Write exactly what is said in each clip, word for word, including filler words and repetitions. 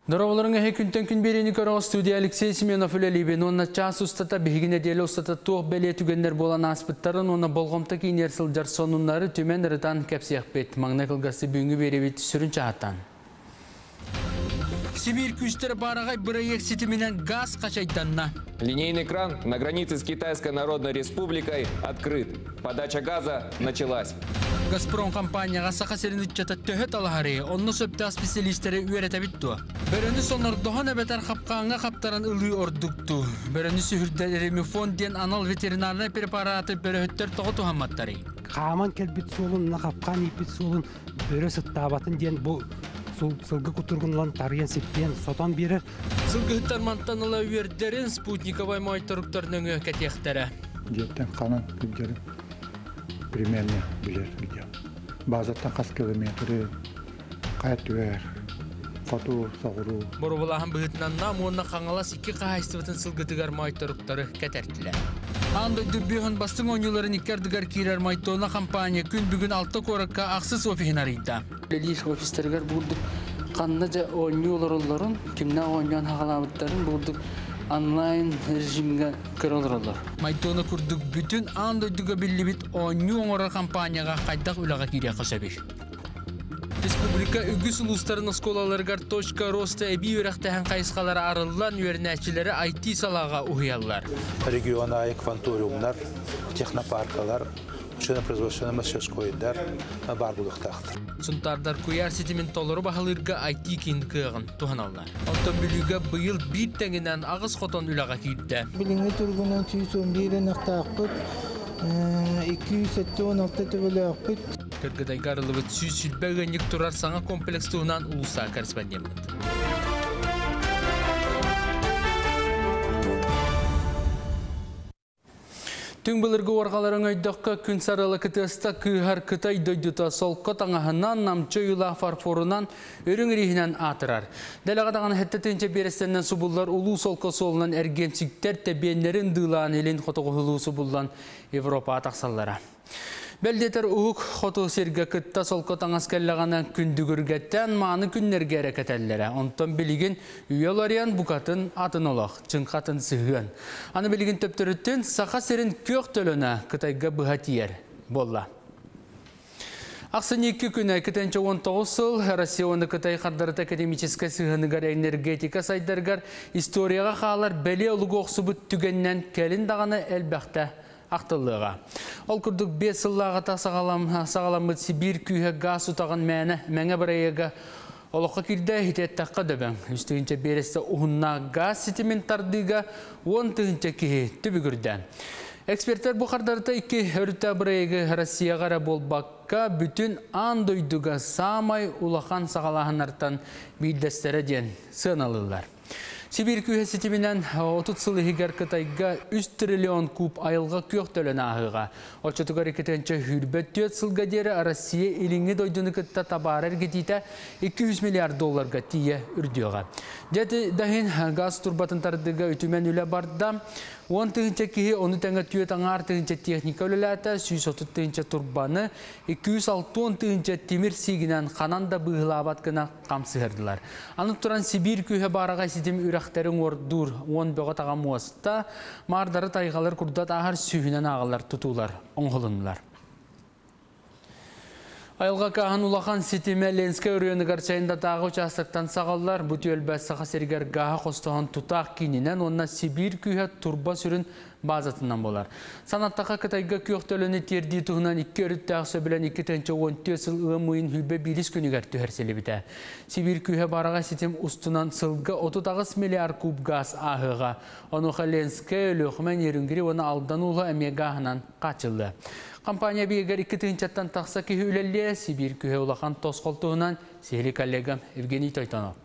Дорабаларын әхе күнтен күн берені көріғі студия Алексей Семенов үлелейбен. Онна час ұстата бігіне делі ұстата туқ бәле түгендер болан аспыттарын, онна болғымта кейінер сылжар сонунлары төмен ырытан кәпсияқ бет. Маңна кылгасы бүгінгі беребет сүрін чағаттан. Сибирь күстері барағай проект сетіменен газ қашайданна. Линейный кран на границе с Китайской Народной Республикой открыт. Подача газа началась. Газпром компанияға сақа серін үтчата төһө талахары, онны сөпті специалисттері үйрете бітті. Бөрөні сонор дохон әбетер қапқаңа қаптаран ылы ордукту. Бөрөні сүхүрдәлерimi фонд ден анал ветеринарный препараты бөрөһөттөр тоғы тухамматтары. Қаман келбит суолун, қапқан ипит суолун бөрө сыттабатын ден бу сылгы кутургунлан тарыян сеппен сотон берер. Сылгыһыттар мантаныла үйердерин спутниковай майторуктар нөңө кәтехтері. Жеттен қанан күддері примерно билер видео. Базаттан қас километрі қайт хоту соғыру. Борубулахан быһытынан нам уонна қаңалас икки қахайстыбытын сылгытыгар майторуктары кәтәртилер. Анда дүббүһөн бастың оңюларын иккердигер кирер майтона компания күн бүгүн алты коракка ақсыз офиһин арыйда. Лелиш офистергер бурдук қанна жа оңюлар кимна оңян хагалабыттарын бурдук онлайн режимге көрөлөр. Майтона курдук бүтүн анда дүгө биллибит оңю оңора компанияга кайдак үлага кире касабир. Республика үгүс улустарын осколаларгар точка роста эби үрәхтәһән кайысқалары арыллан үйернәчиләре I T салага уһыяллар. Региона кванториумнар, технопаркалар, машино-производственный мастерскойдар бар булыктактыр. Сунтардар куяр сетимен толору баһалырга I T кин кыгын туханаллар. Автомобилгә быел бир тәңеннән агыз хотон үләгә килде. Билиңе тургунан сүүс бир нактакпыт, ике йөз он алты төбеләкпит. Кыргыдайгарылыбыт сүүс сүлбәгәнник турар саңа комплекс туһунан улуса корреспондент. Түн былыргы орғаларын өйдіққа күн сарылы кытыста кыһар Кытай дойдута солққа таңаһынан намчы юла фарфорынан өрің рихінен атырар. Дәліғадаған хәтті тінче берестеннен субуллар улу солққа солынан әргенсіктер тәбенлерін дылан елін хотоғылу субуллан Европа атақсаллара. Бәлдетер ұғық хоту серге кытта солққа таңас кәллағана күндігіргеттен маны күннерге әрекетәллері. Онтон білеген үйелариян бұқатын атын олақ, чыңқатын сығын. Аны білеген төптіріттен сақа серін көк төліні Қытайға бұға тиер. Болла. Ақсын екі күні екінші он тоғыз сыл Россия оны Қытай қардырыт академический сығыныгар энергетика сайдаргар историяға қалар бәле ұлығы оқсыбыт түгеннен кәлін дағаны әлбәқті ақтылыға. Ол күрдік бес сыллаға сағаламыт Сибирь күйі газ ұтаған мәні мәңі бірайыға олыққа кирді хитеттаққа дөбәң. Үстігінші бересті ұғынна газ сетімен тардыға он тігінші кейі түбігірді. Эксперттер бұл қардарда екі өрті бірайығы Россияға болбаққа бүтін андойдуға самай улахан сағалағанартан бейдестері ден сыналылар. Сибирь күйі сетіменен отыз сыл егер Қытайға үш триллион куб айылға көк төлін ағыға. Отчетугар екітінші хүрбет төт сылға дері Россия еліңі дойдыны кытта табар әргетейті екі жүз миллиард долларға тие үрдіға. Дәті дәхін газ турбатын тардыға үтімен үлі барда. он тыгынча кихи, оны тәңі түйет аңар тыгынча техника өлеләті, сүйіс отыз тыгынча турбаны, екі жүз алты он тыгынча темір сигінен қанан да бұғылабат кына қамсығырдылар. Анық тұран Сибирь күйі бараға сетім үрәқтерін ордур, он бөға тағам уасытта, мардары тайғалар күрдат ағар сүйінен ағалар тұтулар, оңғылынылар. Айылға кахан улахан сетиме Ленске үрені гарчайында тағы участоктан сағаллар, бұт өлбәс сақа сергер гаға қостаған тұтақ кейінінен онна Сибирь күйі турба сүрін базатынан болар. Санаттақа Қытайға көқтөліні терді тұғынан екі өрітті ақсы білен екі тәнчі он төсіл ұмыйын хүлбе биліс күнігер түхерселі біті. Сибирь күйі бараға сетім ұстынан сылғы отыз ағыз миллиард куб газ ағыға. Онуға Ленске өліқмен ерінгірі оны алдан ұлы әмегағынан қачылды. Компания бейгер екі тыгынчаттан тақса күйі үлелі Сибирь күйі улахан тосқолтуынан сехли коллегам Евгений Тойтонов.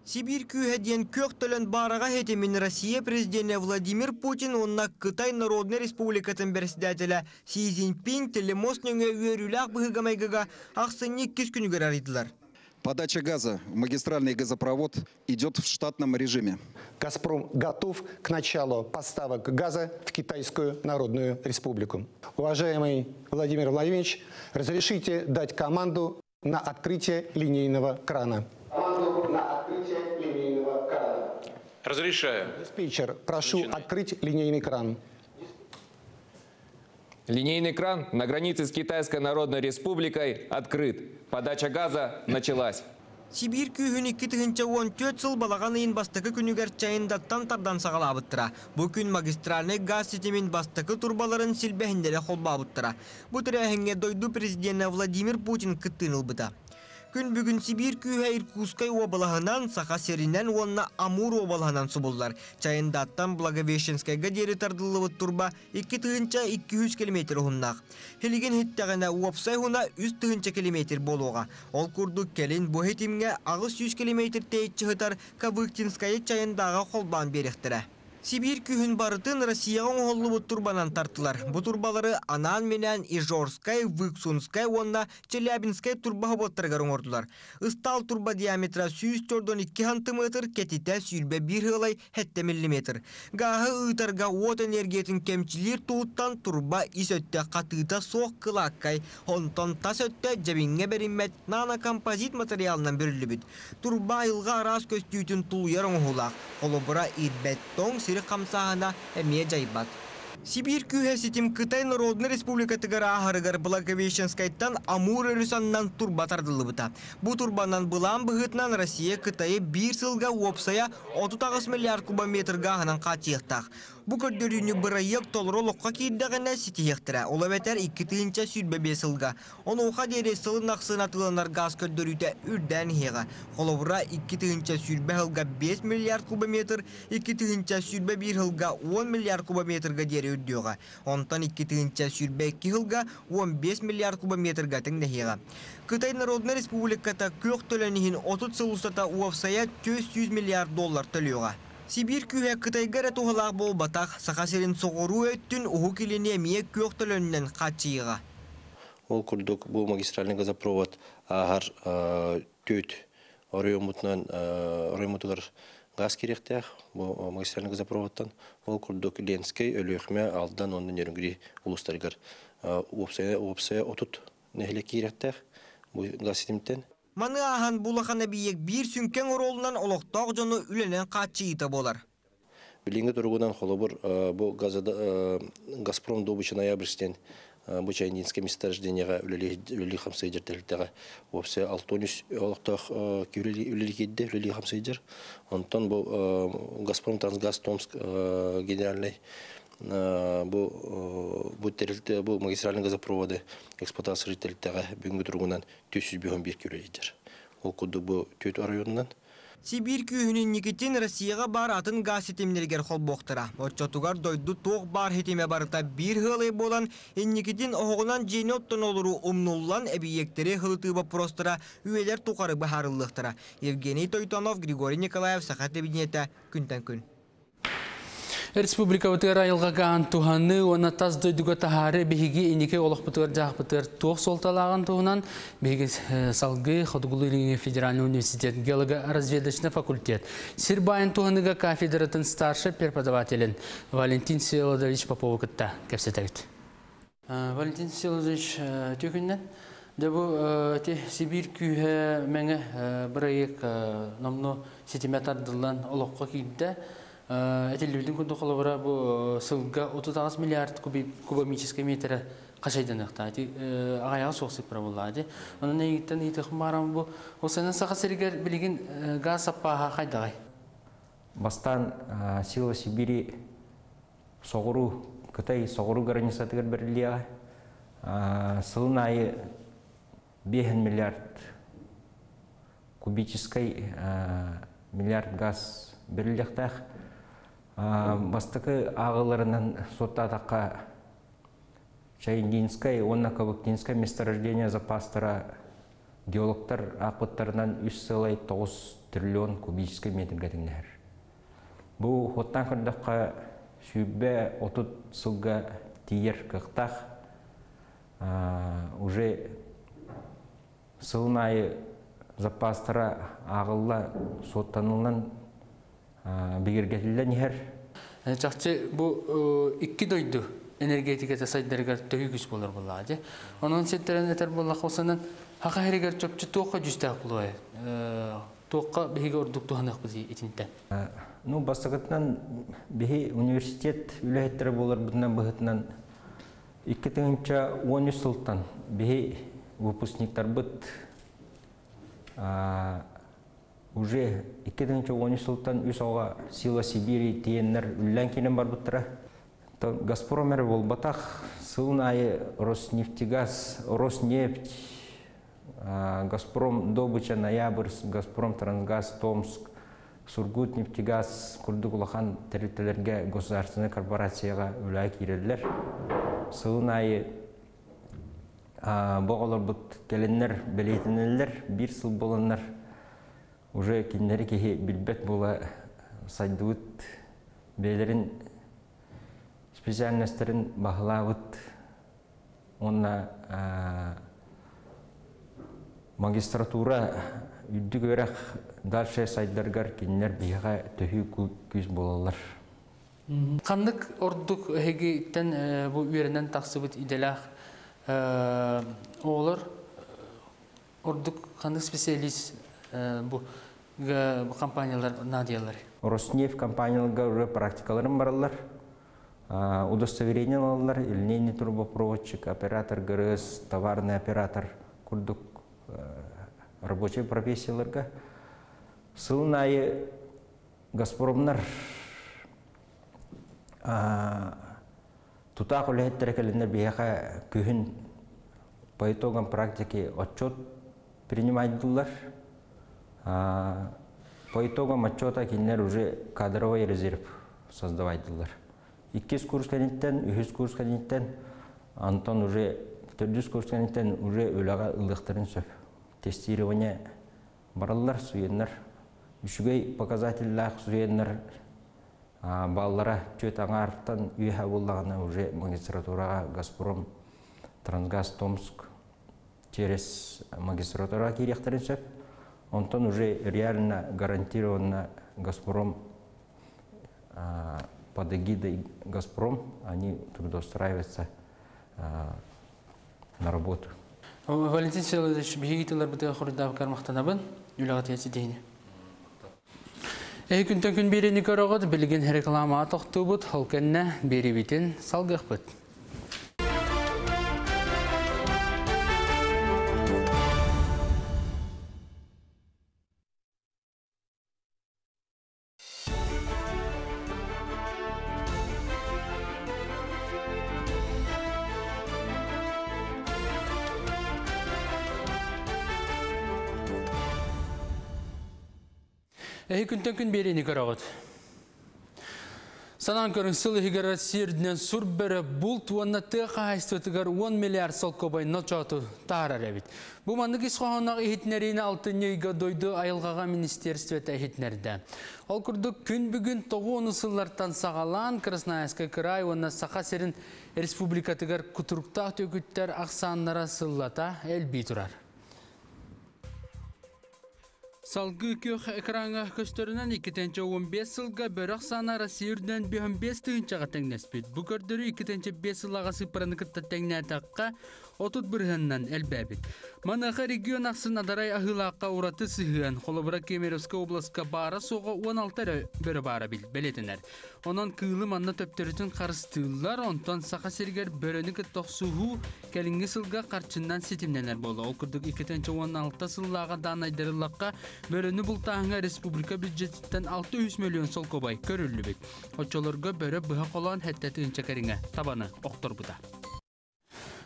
Сибирь күйі ден көк төлін бараға хетемін Россия президенті Владимир Путин онна Қытай Народный Республикатын председателі Си Цзиньпин телемост нөңе үйерулақ бұғығамайғыға ақсынны кез күнігер арыдылар. Подача газа в магистральный газопровод идет в штатном режиме. «Газпром» готов к началу поставок газа в Китайскую Народную Республику. Уважаемый Владимир Владимирович, разрешите дать команду на открытие линейного крана. Команду на Разрешаю. Диспетчер, прошу Начинай. Открыть линейный кран. Линейный кран на границе с Китайской Народной Республикой открыт. Подача газа началась. Сибиир күүһүн икки тыһыынча уон түөрт сыл балаҕан ыйын бастакы күнүгэр Чайындаттан тардан саҕалаабыттара. Бу күн магистральнай газ ситимин бастакы турбаларын силбэһиннэрэ холбообуттара. Бу тэрээһиҥҥэ дойду президенэ Владимир Путин кыттыыны ылбыта. Күн бүгүн Сибиир күүһэ Иркутскай уобалаһынан, Саха сиринэн уонна Амур уобалаһынан субуллар. Чайындаттан Благовещенскайга диэри тардыллыбыт турба икки тыһыынча икки сүүс километр уһуннаах. Билигин ситтэҕинэ уопсай уһуна үс тыһыынча километр буолуоҕа. Ол курдук кэлин бу ситимҥэ аҕыс сүүс километр тэйиччи сытар Ковыктинскайы Чайындааҕа холбоон биэриэхтэрэ. Сибиир күүһүн барытын Россияҕа оҥоһуллубут турбанан тартылар. Бу турбалары анаан-минээн Ижорскай, Выксунскай уонна Челябинскай турба собуоттарыгар оҥордулар. Ыстаал турба диаметра сүүс төрдөн икки сантиметр, кэтитэ сүүрбэ биир сыалай сэттэ миллиметр. Гааһы ыытарга уот энергиятын кэмчилиир туһуттан турба ис өттө хатыыта суох кылааккай, онтон тас өттө дьэбиҥҥэ бэриммэт нанокомпозит материалынан бүрүллүбүт. Турба айылҕа араас көстүүтүн тулуйар оҥоһуулаах. Холобура ирбэт тоҥ сири хамсааһына эмиэ дьайбат. Сибиир күүһэ ситим Кытай Народнай Республикатыгар ааһарыгар Благовещенскайтан Амур өрүс аннынан турба тардыллыбыта. Бу турбанан былаан быһыытынан Россия Кытайы биир сылга уопсайа отут аҕыс миллиард кубометр гааһынан хааччыйыахтаах. Бу көрдөрүүнү бырайыак толору олоххо киирдэҕинэ ситиһиэхтэрэ. Ол эбэтэр икки тыһыынча сүүрбэ биэс сылга. Онуоха диэри сылын ахсын атыыланар гаас көрдөрүүтэ үрдээн иһиэҕэ. Холобура икки тыһыынча сүүрбэ сылга биэс миллиард кубометр, икки тыһыынча сүүрбэ биир сылга уон миллиард кубометрга диэри үрдүөҕэ. Онтон икки тыһыынча сүүрбэ икки сылга уон биэс миллиард кубометрга тэҥнэһиэҕэ. Кытай Народнай Республиката күөх төлөн иһин отут сыл устата уопсайа түөрт сүүс миллиард доллар төлүөҕэ. Сибиир күүһэ Кытайга эрэ туһалаах буолбатах, Саха сирин соҕуруу өттүн уһук илини эмиэ күөх төлөнүнэн хааччыйыаҕа. Ол курдук бу магистральный газопровод ааһар түөт оройуоммутунан оройуоммутугар газ кириэхтээх бу магистральный газопроводтан. Ол курдук Ленскэй, Өлүөхүмэ, Алдан уонна Нерюнгри улуустарыгар уопсайа уопсайа отут нэһилиэк киириэхтээх бу газ ситимтэн. Маны ааһан булахан эбийиэк биир сүҥкэн оруолунан олохтоох дьону үлэнэн хааччыйыыта буолар. Билиҥҥи туругунан холобур бу Газпром добыча ноябрьстен бу Чайнинское месторождениеҕа үлэлии хамсыйдьар тэрилтэҕэ уопсайа алта уон үс олохтоох үлэлии киирдэ, үлэлии хамсыйдьар. Онтон бу Газпром Трансгаз Томск генеральный бу бу тэрилтэ бу магистральный газопроводы эксплуатация тэрилтэҕэ бүгүҥҥү туругунан түөрт сүүс биэс уон биир үлэлиир. Ол курдук бу түөрт оройуонунан. Сибиир күүһүн инникитин Россияҕа баар атын газ ситимнэригэр холбуохтара. Оччотугар дойду туох баар ситимэ барыта биир сыалай буолан, инникитин оһоҕунан дьиэни оттон олоруу умнуллан эбийиэктэри сылытыы боппуруостара үйэлэр тухары быһаарыллыахтара. Евгений Тойтонов, Григорий Николаев, Саха телевидениетэ, күнтэн күн. Республикабытыгар айылҕа гааһын туһаныы уонна тас дойдуга таһаарыы биһиги инники олохпутугар дьаһахпытыгар туох суолталааҕын туһунан биһиги салгыы Хотугулуу-Илиҥҥи федеральный университет геолого-разведочный факультет сир баайын туһаныыга кафедратын старший преподавателин Валентин Всеволодович Попову кытта кэпсэтэбит. Валентин Всеволодович, үтүө күнүнэн. Дьэ бу Сибиир күүһэ мэҥэ бырайыак номнуо ситимэ тардыллан олоххо киирдэ. Этиллибитин курдук холобура бу сылга отут аҕыс миллиард кубомическай метрэ хачайданыахтаах. Аҕыйаҕа суох сыппара буоллаҕа дии. Онон эйигиттэн ыйытыахым баарам бу ол Саха сиригэр билигин газ саппааһа хайдаҕый? Бастаан Сила Сибири соҕуруу Кытай соҕуруу границатыгар бэриллиэҕэ. Сылын аайы биэс миллиард кубическай миллиард газ бэриллиэхтээх. Бастакы ааҕыыларынан суоттаатахха Чайндинскай уонна Ковыктинскай месторождение запастара геологтар аахпыттарынан үс сыалай тоҕус триллион кубическай метргэ тэҥнэһэр. Бу суоттаан көрдөххө сүүрбэ отут сылга тиийэр кыахтаах. Уже сылын аайы запастара ааҕылла суоттаныллан бигэргэтиллэн иһэр. Чахчы бу икки дойду энергетиката сайдарыгар төһүү күүс буолар буоллаҕа дии. Онон сиэттэрэн этэр буоллахха, саха сиригэр чопчу туохха көдьүүстээх буолуой? Туохха биһиги ордук туһаныахпыт итинтэн? Ну, бастакытынан биһи университет үлэһиттэрэ буоларбытынан быһытынан икки тыһыынча уон үс сылтан биһи выпускниктарбыт уже икки тыһыынча уон үс сылтан үс оҕо Сила Сибири тиэннэр үллэн киирэн барбыттара. Газпром эрэ буолбатах, сылын аайы Роснефтегаз, Роснефть, Газпром добыча Ноябрьск, Газпром Трансгаз Томск, Сургут нефтегаз курдук улахан тэрилтэлэргэ государственнай корпорацияга үлэ киирэллэр. Сылын аайы бу оҕолорбут кэлэннэр бэлиэтэнэллэр, биир сыл буоланнар уже кинилэри киһи билбэт буола сайдыбыт, бэйэлэрин специальностарын баһылаабыт уонна магистратура үрдүк үөрэх дальше сайдаргар кинилэр биһиэхэ төһүү күүс буолаллар. Ханнык ордук эһигиттэн бу үөрэнэн тахсыбыт идэлээх оҕолор ордук ханнык специалист бу компаниялар наадыйалар? Роснефть компанияларга уже практикаларын бараллар. Удостоверение алаллар, линейный трубопроводчик, оператор ГРС, товарный оператор курдук рабочий профессияларга. Сылын аайы Газпромнар тутаах үлэһиттэрэ кэлэннэр биһиэхэ күһүн по итогам практики отчет принимайдылар. По итогам отчета кинилэр уже кадровый резерв создавайдылар. Иккис курс кэнниттэн, үһүс курс кэнниттэн, онтон уже төрдүс курс кэнниттэн уже үлэҕэ ылыахтарын сөп. Тестирование бараллар, суеннар. Үчүгэй показателлээх суеннар баллара түөрт аҥаартан үөһэ буоллаҕына уже магистратураҕа Газпром, Трансгаз Томск через магистратура киириэхтэрин сөп. Онтон уже реально гарантированно Газпром под эгидой Газпром они трудоустраиваются на работу. Валентин Всеволодович, биһиги тылларбытыгар хоруйдаабыккар махтанабын. Үлэҕэ тиийэ Эһи күнтэн күн биэриини көрөҕүт, билигин рекламаҕа тохтуубут, ол кэннэ биэриибитин салгыахпыт. Эһи күнтэн күн биэриини көрөҕүт. Санаан көрүҥ, сыл иһигэр Россия үрдүнэн сур бөрө булт уонна тыа хаһаайыстыбатыгар уон миллиард солкуобай ночооту таһаарар эбит. Бу маннык ис хоһоонноох иһитиннэриини алтынньы ыйга дойду айылҕаҕа министерствота иһитиннэрдэ. Ол курдук күн бүгүн тоҕус уон сыллартан саҕалаан Красноярскай кыраай уонна Саха сирин республикатыгар кутуруктаах түөкүттэр ахсааннара сыллата элбии турар. Салгыы күөх экраҥҥа көстөрүнэн икки тыһыынча уон биэс сылга бөрө ахсаана Россия үрдүнэн биэс биэс тыһыынчаҕа тэҥнэспит. Бу көрдөрүү икки тыһыынча биэс сыллааҕы сыыппараны кытта тэҥнээтэххэ отут бырыһыанынан элбээбит. Маныаха регион ахсын адарай аһыылаахха ураты сыһыан, холобура Кемеровскай областка баара суоҕа уон алта эрэ бөрө баара бэлиэтэнэр. Онон кыылы манна төптөрүтүн харыстыыллар, онтон Саха сиригэр бөрөнү кытта охсуһуу кэлиҥҥи сылга харчыннан ситимнэнэр буолла. Ол курдук икки тыһыынча уон алта сыллааҕы даанайдарыллахха бөрөнү бултааһыҥҥа республика бюджетиттэн алта жүз миллион солкуобай көрүллүбүт. Оччолорго бөрө быһа холоон сэттэ тыһыынча кэриҥэ табаны охторбута.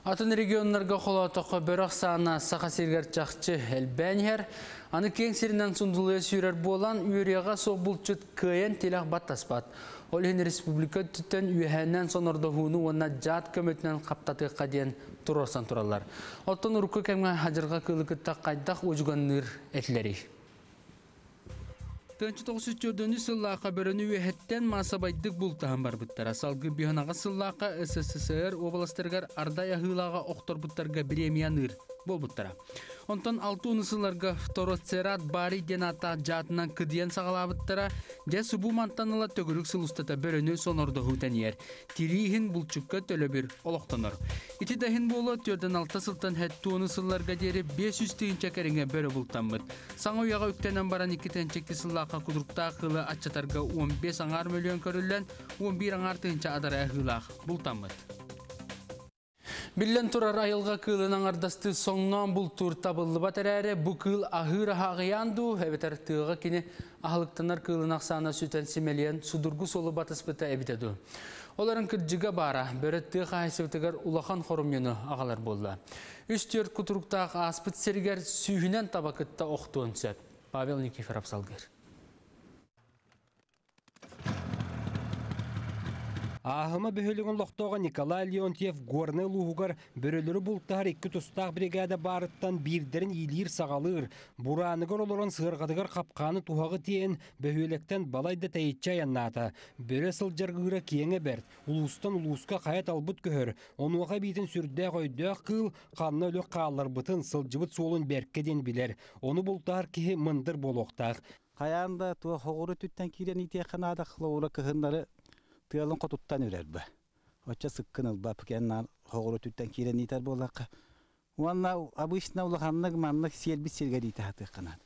Атын регионнарга холоотоххо бөрө ахсаана Саха сиригэр чахчы элбээн иһэр. Аны киэҥ сиринэн сундулуйа сүүрэр буолан, үөрүйэҕэ суох булчут кыайан тилэх баттаспат. Ол иһин республика өттүттэн үөһээннэн сонордоһууну уонна дьаат көмөтүнэн хаптатыахха диэн туруорсан тураллар. Оттон урукку кэмҥэ хадьырҕа кыылы кытта хайдах уодьуганныыр этилэрий? Тыһыынча тоҕус жүз төрдүнчү сыллаахха бөрөнү үөһэттэн маасабайдык бултаһан барбыттара. Салгыы биһанаҕа сыллаахха СССР областарыгар ардай аһыылааҕа охторбуттарга премияныыр Болбуттара. Онтон алты сылларга фтороцерат бари диэн ааттаах дьаатынан кыдыйан саҕалаабыттара, дьэ субу мантан ыла төгүрүк сыл устата бөрөнү сонордоһуу тэнийэр. Тирииһин булчукка төлөбүр олохтонор. Ити да иһин буолуо түөртэн алта сылтан сэттэ уон сылларга диэри биэс сүүс тыһыынча кэриҥэ бөрө бултаммыт. Саҥа үйэҕэ үктэнэн баран икки тыһыынча сыллаахха кудуруктаах кыылы аччатарга он бес аҥаар мөлүйүөн көрүллэн, он биир аҥаар тыһыынча адара ыһыылаах бултаммыт. Биллэн турар айылға кыылын аңардасты соңнан бултуур табыллыбат эрээри, бу кыыл аһыыр аһааҕыйаан дуу, эбэтэр тыаҕа кини аһылыктанар кыылын ахсаана сүтэн симэлийэн судургу суолу батыспыта эбитэ дуу. Оларын кырдьыга баара, бөрө тыа хаһайсыбытыгар улахан хорумньуну аҕалар буолла. Үс түөрт кутуруктаах ааспыт сиригэр сүүһүнэн таба кытта охтуон сөп. Павел Никифоров салгыр. Ааһыма бөһүөлэгин олохтооҕо Николай Леонтьев Горнай улууһугар бөрөлөрү бултаһар икки тустаах бригада баарыттан биирдэрин иилиир саҕалыыр. Бурааныгар олорон сыарҕатыгар хапкааны туһаҕы тиэйэн бөһүөлэктэн балайда тэйиччи айаннаата. Бөрө сылдьар ыыра киэҥэ бэрт, улуустан улууска хайа талбыт көһөр. Онуоха биитин сүрдээх өйдөөх кыыл ханна өлүк хаалларбытын сылдьыбыт суолун бэркэ диэн билэр. Ону бултаһар киһи мындыр буолуохтаах. Хайаан да туох хоҕуру түттэн киирэн иитиэххэ наада хлоура кыһыннары тыалын хотуттан үрэр бу. Оччо сыккын ылба пукеннан хоҕуру түттэн киирэн иитэр буоллахха. Уонна обычно улаханнык маннык сиэлбит сиргэ диитэ хатыахханаат.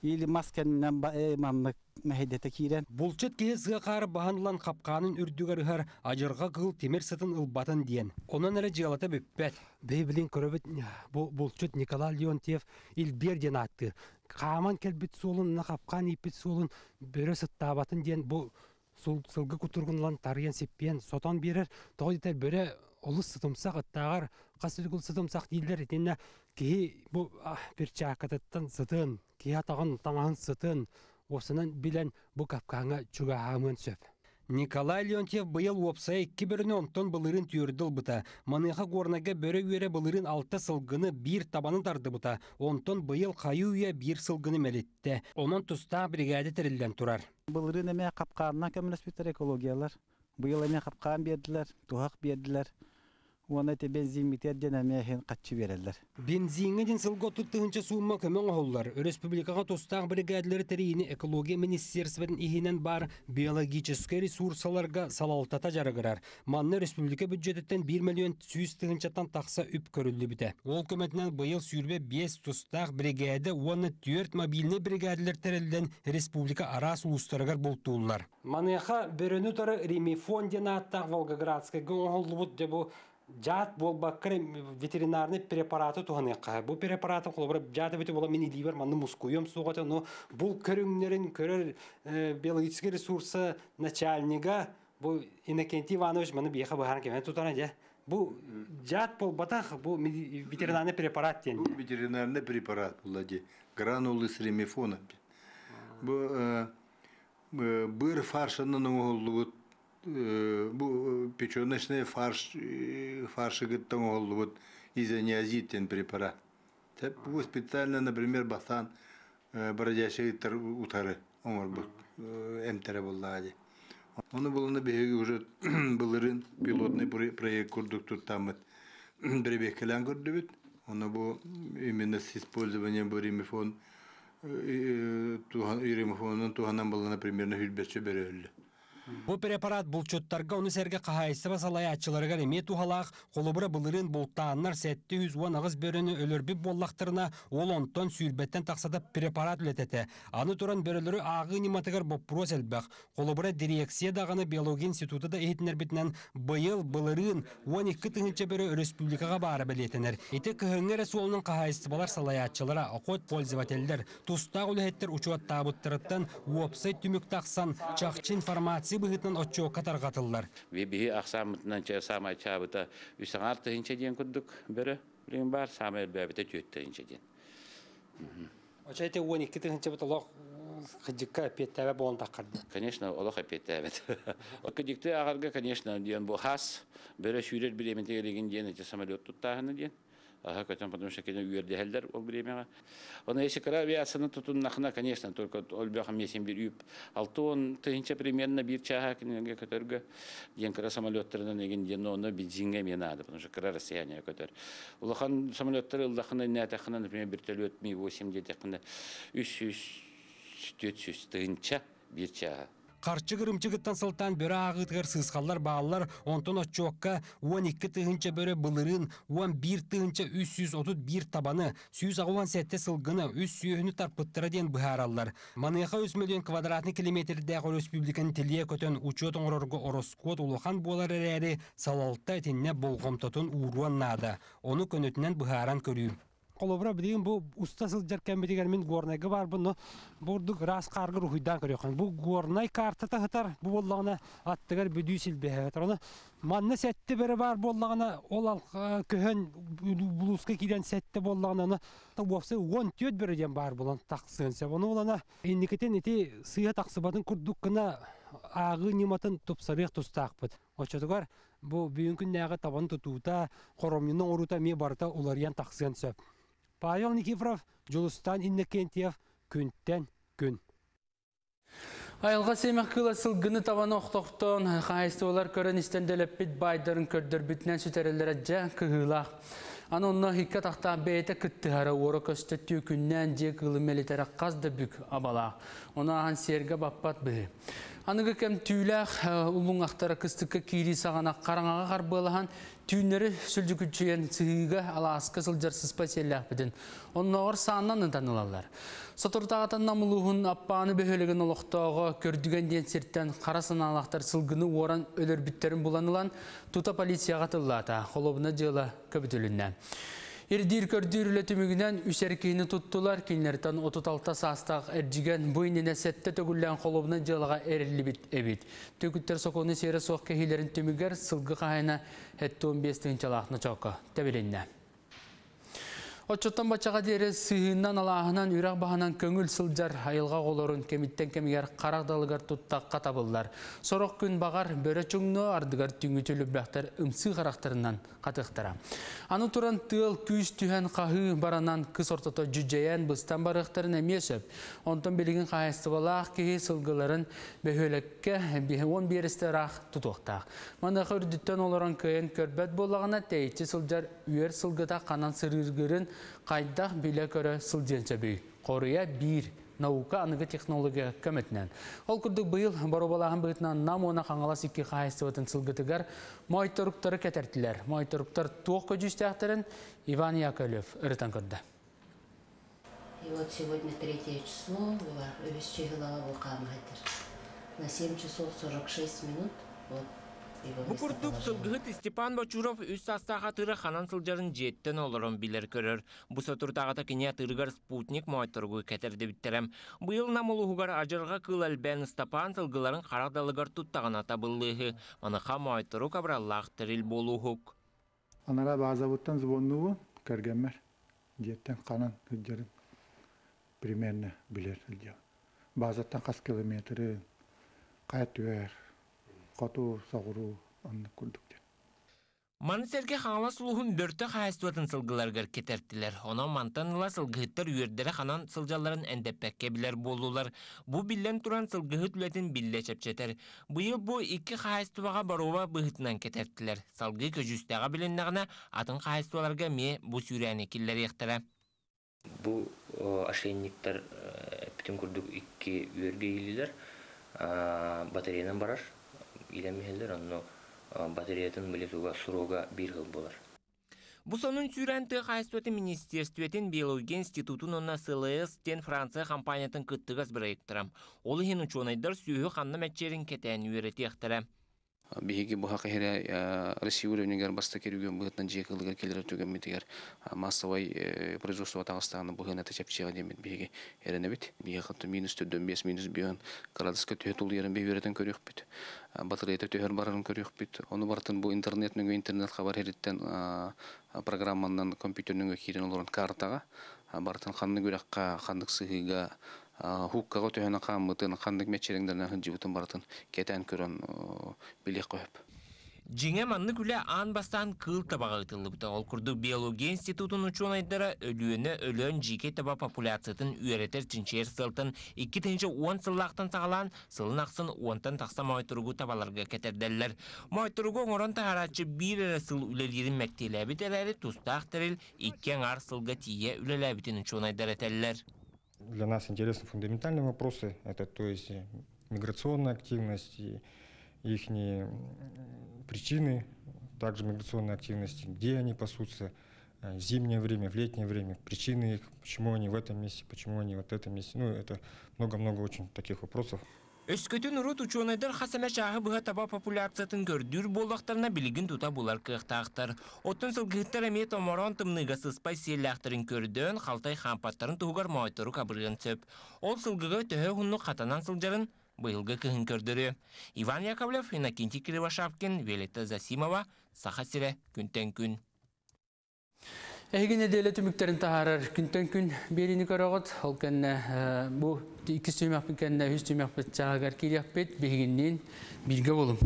Или масканынан маннык мэһэйдэтэ киирэн. Булчут киһи сыа хаары баһан ылан хапкаанын үрдүгэр ыһар адьырҕа кыыл тимир сытын ылбатын диэн. Онон эрэ дьыалата бүппэт. Бэйбилин көрөбүт бу булчут Николай Леонтьев Илбиэр диэн ааттыыр. Хааман кэлбит суолун, хапкаан ииппит суолун бөрө сыттаабатын диэн бу сылгы кутургунлан тарыйан сиппиэн сотон биэрэр. Тоҕо диэтэр бөрө олус сытымсах ыттааҕар хас сүргүл сытымсах дииллэр итиннэ киһи бу перчаакатыттан сытын, киһи атаҕын таҥаһын сытын, уопсанан билэн бу капкааҥҥа чугаһаамыан сөп. Николай Леонтьев быйыл уопсайа икки бөрөнү онтон былырыын түөрдү ылбыта. Маныаха Горнайга бөрө үөрэ былырыын алта сылгыны биир табаны тардыбыта. Онтон быйыл хайыы үйэ биир сылгыны мэлиттэ. Онон тустаах бригада тэриллэн турар. Былырыын эмиэ хапкаанынан көмөлөспүттэр экологиялар. Быйыл эмиэ хапкаан биэрдилэр, туһах биэрдилэр. Уонна эти бензин митер диэн эмиэ иһин хаччы биэрэллэр. Бензиҥҥэ диэн сылга отут тыһыынча суумма көмө оҥоһуллар. Республикаҕа тустаах бригадалары тэрийиини экология министерствотын иһинэн баар биологическай ресурсаларга салалтата дьарыгырар. Манна республика бюджетиттэн биир миллион сүүс тыһыынчаттан тахса үп көрүллүбүтэ. Ол көмөтүнэн быйыл сүүрбэ биэс тустаах бригада уонна түөрт мобильнай бригадалар тэриллэн республика араас улуустарыгар бултууллар. Маныаха бөрөнү тары Ремифон диэн ааттаах Волгоградскайга оҥоһуллубут дьэ бу жаат буолбакка ветеринарный препараты туһаныахха. Бу препараты холобура жаат эбити буола мин илиибэр манны мускуйуом суоҕа, но бул көрүҥнэрин көрөр биологический ресурса начальнига бу Иннокентий Иванович маны биэхэ быһааран кэмэн тутана дьэ. Бу жаат буолбатах, бу ветеринарный препарат диэн. Бу ветеринарный препарат була дии. Гранулы с ремифоном. Бу быр фаршынан оҥоһуллубут, бу печеночный фарш, фаршыгыттан оҥоһуллубут изониазид диэн препарат. Бу специально, например, бастаан бродячий утары оҥорбут эмтэрэ буоллаҕа дии. Ону булуна биһиги уже былырыын пилотный проект курдук туттаммыт бэрэбиэркэлээн көрдүбүт. Ону бу именно с использованием бу ремифон ремифонун туһанан булана примерно сүүрбэччэ бөрө өллө. Бу препарат булчуттарга ону сэргэ хаһаайыстыба салайааччыларыгар эмиэ туһалаах. Холобура былырыын бултааннар сэттэ жүз уон аҕыс бөрөнү өлөрбүт буоллахтарына, ол онтон сүүрбэттэн тахсата препарат үлэтэтэ. Аны туран бөрөлөрү ааҕыы ньыматыгар боппуруос элбэх. Холобура дирекция даҕаны биология института да иһитиннэрбитинэн быйыл былырыын он икки тыһыынча бөрө республикаҕа баара бэлиэтэнэр. Ити кыһыҥҥы эрэ суолунан хаһаайыстыбалар салайааччылара, охот пользователлэр, тустаах үлэһиттэр учуоттаабыттарыттан уопсай түмүк тахсан чахчы информация быһыытынан отчуокка тарҕатыллар. Биһи ахсааммытынан саамай чаабыта үс аҥаар тыһыынча диэн курдук бөрө билигин баар, саамай элбээбитэ түөрт тыһыынча диэн. Очо эти он икки тыһыынча бит олох кыдьыкка эппиэттээбэт буолан таххарды. Конечно, олох эппиэттээбэт. Кыдьыкты аҕарга, конечно, диэн бу хас бөрө сүүрэр бириэмэтигэр диэн эти самолет туттааһыны диэн. Ага, көтөн, потому что кene үйердехелдер ол времяга. Оны если кыра авиацияны тутуннахына, конечно, только олбяхам есен бир үйіп. Алты он тыгынча примерно бир чаха кинеге көтөргө. Ден кыра самолеттарынан еген ден оны бензинге мен надо, потому что кыра расстояние көтөр. Улахан самолеттар ылдахына нәтахына, например, вертолет Ми восемь детехына үш жүз төрт жүз тыгынча бир чаха. Қарчы кырымчыгыттан сылтан бөрі ағытығыр сысқалар бағалар, онтон отчуаққа он екі тыгынча бөрі бұлырын, он бір тыгынча үш жүз отыз бір табаны, сүүс ағуан сәтте сылгыны, үс сүйіні тарпыттыра ден бұхаралар. Маныға үс миллион квадратный километрдәғы республиканы телие көтен учет оңырорғы ороскот улухан болар әрі салалта етінне болғомтотын уруан нада. Оны көнөтінен бұхаран көрүү. Колобра билигин бу уста сылдьар кэммитигэр мин Горнайга бар буну бурдук рас каргыр ухуйдан көрөкөн. Бу Горнай картата хытар бу боллагына аттыгар бүдүү силбеһе. Оны манна сәтте бере бар боллагына ол көһөн булуска киден сәтте боллагына вовсе он төт береден бар болан таксын. Оны олана инникетен ити сыя таксыбатын курдук кына агы ниматын тупсарык тустакпыт. Очотугар бу бүгүнкү күннәге табан тутуута хоромнунун орута ме барта уларыян таксыан сөп. Павел Никифоров, Жулустан Иннокентьев, күнтен күн. Айылға семек кыла сылгыны табаны оқтоқтон, қайыстылар көрін истенделеп бит байдарын көрдір бүтінен сүтерелері жа кығылақ. Аны онна хикка тақта бейті күттіғара оры көстөттүү күннен же кылы мелитері қаз да бүк абала. Оны аған серге баппат бұғы. Аныгы кәм түүләқ улун ақтара кыстыққа кири сағана қараңаға қарбылахан түйінлері сүлдікүтчүйен сығыға аласқы сылжар сыспа селләқ бітін. Оннағыр сағынан танылалар. Сатуртағатан намылуғын аппаны бөхөлеген олықтауға көрдіген ден серттен қара саналақтар сылгыны оран өлір бүттерін буланылан тута полицияға тыллата. Холобына жылы көбітілінне. Ирдир көрдүр үлетімігінен үсер кейіні туттулар, кейінлерден отыз алты састақ әржіген бұйніне сәтті төгіллән қолыбына жылыға әрілі бит әбит. Төкіттер соқоны сері соқ кехилерін түмігер сылғы қайына әтті он бес тыңчалақны чоқы тәбіленне. Отчоттан бачаға дері сыйынан алағынан үрақ бағынан көңіл сылжар айылға қолорын кемиттен кемигер қарақ далығар туттаққа табылдар. Сорок күн бағар бөрі чүңні ардығар түңі төлі ымсы қарақтарынан қатықтара. Аны туран тыл күйіз түйен қағы баранан кыз ортото жүжжәйен бұстан барықтарын әмесіп. Онтон білігін қайыстыбалақ кейі сылғыларын бөхөлекке он берісті рақ тұтуқтақ. Манағы үрдіттен оларан көйін көрбәт болағына тәйітші сылжар үйер сылғыта қанан сырыргырын қайдақ биле көрі сылденсе бүй. Қорыя бір наука аныгы технология көмөтүнөн. Ол курдук быйыл боробалаһын быытынан нам она қаңалас икки хаайыстыбытын сылгытыгар мойторуктары кетертилер. Мойторуктар туох көжүстээхтерин Иван Яковлев ырытан көрдө. И вот сегодня третье число, на семь часов сорок шесть минут. Вот. Бу курдук сылгыһыт Степан Бочуров үс састаах атыыра ханан сылдьарын дьиэттэн олорон билэр көрөр. Бу сотуртааҕыта кини атыырыгар спутник моойторугу кэтэрдибиттерэм. Быйыл намулуһугар ажырга кыл элбэн Степан сылгыларын харах далыгар туттаҕына табыллыыһы. Маныха моойтору кабраллаах тэрил буолууһук. Анара базабыттан звоннугу көргөнмөр. Дьиэттэн ханан сылдьарын примерно билэр сылдьар. Базаттан хас километры кайтыр. Хоту соғыру онны курдук. Маны сэргэ хаҥалас улууһун бөртө хаһаайыстыбатын сылгыларыгар кэтэртилэр. Онон мантан ыла сылгыһыттар үөрдэрэ ханан сылдьалларын эндэппэккэ билэр буоллулар. Бу биллэн туран сылгыһыт үлэтин биллэ чэпчэтэр. Быйыл бу икки хаһаайыстыбаҕа боруоба быһытынан кэтэртилэр. Салгыы көдьүүстээҕэ билиннэҕинэ атын хаһаайыстыбаларга эмиэ бу сүүрээни киллэриэхтэрэ. Бу ошейниктар бүтүн курдук икки үөргэ иилилэр батареянан барар. Илемихеллер, онно батареятын билетуга суруга бир хыл болар. Бу сонун сүүрэн тыа хаһаайыстыбатын министерствотын биология институтун онна С Л С тен Франция компаниятын кыттыгас проекттара. Ол иһин учуонайдар сүүһү ханна мәтчерин кэтээн үөрэтиэхтэрэ. Биһиги бу хакыһыра Россия уровенигэр баста керүгөн быһытынан жиэ кылыгар келер түгэммитигэр массовай производство тагыстааны быһына течепчига демит биһиги эренебит. Биһиги хатты минус төрдөн бес минус бүйөн градуска төһө тулуярын бэйберетен көрүөхпүт. Батареята төһөр барарын көрүөхпүт. Ону бартын бу интернет нөҥүө интернет хабар хериттен программанан компьютер нөҥүө киирен олорон картага бартын ханны күрәккә ханнык сыһыга хуккага төһөнө хааммытын ханнык мечериңдеринен хынжыбытын бартын кетен көрөн билек көп. Жиңе манны күле аан бастан кыл табаға ытылыбыта. Ол курдук биология институтун учуонайдара өлүөнө өлөн жике таба популяциятын үйретер чинчер сылтын икки тыһыынча уон сыллаахтан саҕалаан сылын ахсын уонтан тахса моойторугу табаларга кетерделлер. Моойторугу оҥорон таһарааччы биир эрэ сыл үлэлиирин мэктиэлээбит эрээри тустаах тэрил икки аҥаар сылга тиийэ үлэлээбитин учуонайдар этэллэр. Для нас интересны фундаментальные вопросы, это то есть миграционная активность и их причины, также миграционной активности, где они пасутся в зимнее время, в летнее время, причины их, почему они в этом месте, почему они вот в этом месте. Ну, это много-много очень таких вопросов. Өскөтүн урут учуонайдар хас эмэ чааһы быһа таба популяциятын көрдүүр буоллахтарына билигин тута булар кыахтаахтар. Оттон сылгыһыттар эмиэ томороон тымныыга сыспай сиэллээхтэрин көрдөөн халтай хаампаттарын туһугар моойтору кабырыан сөп. Ол сылгыга төһө уһуннук хатанан сылдьарын быйылгы кыһын көрдөрүө. Иван Яковлев, Иннокентий Кривошапкин, Виолетта Засимова, Саха сирэ, күнтэн күн. Эһиги нэдиэлэ түмүктэрин таһаарар күнтэн күн биэриини көрөҕүт. Ол кэннэ бу иккис түһүмэхпит кэннэ үһүс түһүмэхпит чааһыгар киириэхпит. Биһигинниин бииргэ буолуҥ.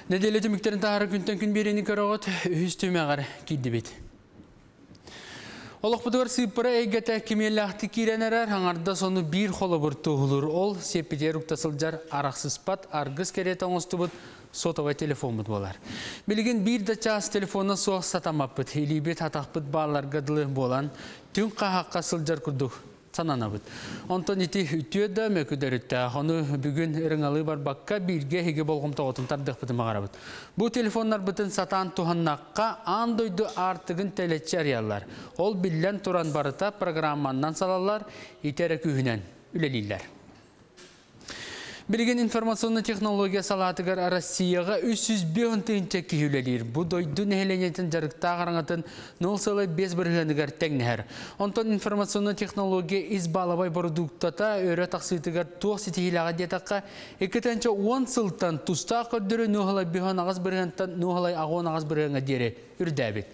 Нэдиэлэ түмүктэрин таһаарар күнтэн күн биэриини көрөҕүт, үһүс түһүмэҕэр киирдибит. Олохпутугар сыыппара эйгэтэ кимиэллээхтик киирэн эрэр, аҥарда сону биир холобур туоһулуур. Ол сиэппитигэр укта сылдьар арахсыспат аргыс кэриэтэ оҥостубут сотовай телефоммут буолар. Билигин биир да чаас телефона суох сатаммаппыт, илиибит атахпыт баалларга дылы буолан, түҥ хаһаахха сылдьар курдук сананабыт. Онтон ити үтүө да мөкүдөрүттээх. Ону бүгүн ырыҥалыы барбакка бииргэ эһиги болҕомтоҕутун тардыахпытын баҕарабыт. Бу телефоннарбытын сатаан туһаннахха аан дойду аартыгын тэлэччи арыйаллар. Ол биллэн туран барыта программаннан салаллар, ити эрэ күүһүнэн үлэлииллэр. Билигин информационнай технология салаатыгар Россияҕа үс сүүс биэс тыһыынча киһи үлэлиир. Бу дойду нэһилиэнньэтин дьарыктаах араҥатын нөл сыла биэс бырыһыаныгар тэҥнэһэр. Онтон информационнай технология ис баалабай бородууктата өрө тахсыытыгар туох ситиһиилээҕэ диэтэххэ, икки тыһыынча уон сылтан тустаах көрдөрүү нөл биэс аҕыс бырыһыантан нөл аҕыс аҕыс бырыһыаҥҥа диэри үрдээбит.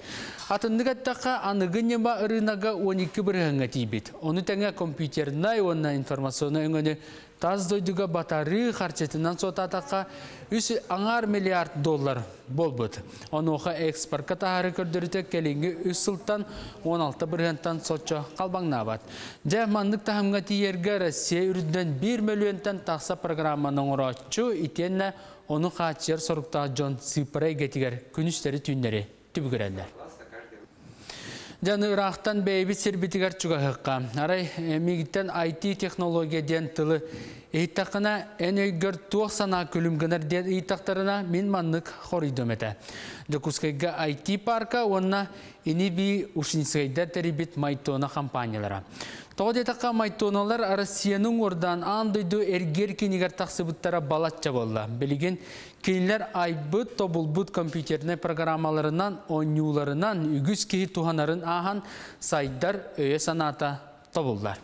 Атыннык эттэххэ, аныгы ньыма ырыынага уон икки бырыһыаҥҥа тиийбит. Ону тэҥэ компьютернай уонна информационнай өҥөнү тас дойдуга батарыы харчытынан суотаатахха үс аҥаар миллиард доллар буолбут. Онуоха экспортка таһаары көрдөрүтэ кэлиҥҥи үс сылтан он алта бырыһыантан соччо халбаҥнаабат. Дьэ, маннык таһымҥа тиийэргэ Россия үрдүнэн биир мөлүйүөнтэн тахса программаны оҥорооччу, итиэннэ ону хааччыйар соруктаах дьон сыыппара эйгэтигэр күнүстэри түүннэри түбүгүрэллэр. Дьаны ыраахтан бэйэбит сирбитигэр чугаһыахха. Арай миигиттэн ай ти технология диэн тылы ыйыттаххына, эн өйгөр туох санаа күлүм гынар диэн ыйыттахтарына мин маннык хоруйдум этэ. Дьокуускайга ай ти парка уонна ини-бии Ушницкайдар тэрийбит Майтона компаниялара. Тоҕо диэтэххэ, Майтоналар Россияны уҥуордаан аан дойду эргиэр кинигэр тахсыбыттара балачча буолла. Билигин кинилэр айбыт, тобулбут компьютернай программаларынан, оонньууларынан үгүс киһи туһанарын ааһан сайдар өйө санаата тобуллар.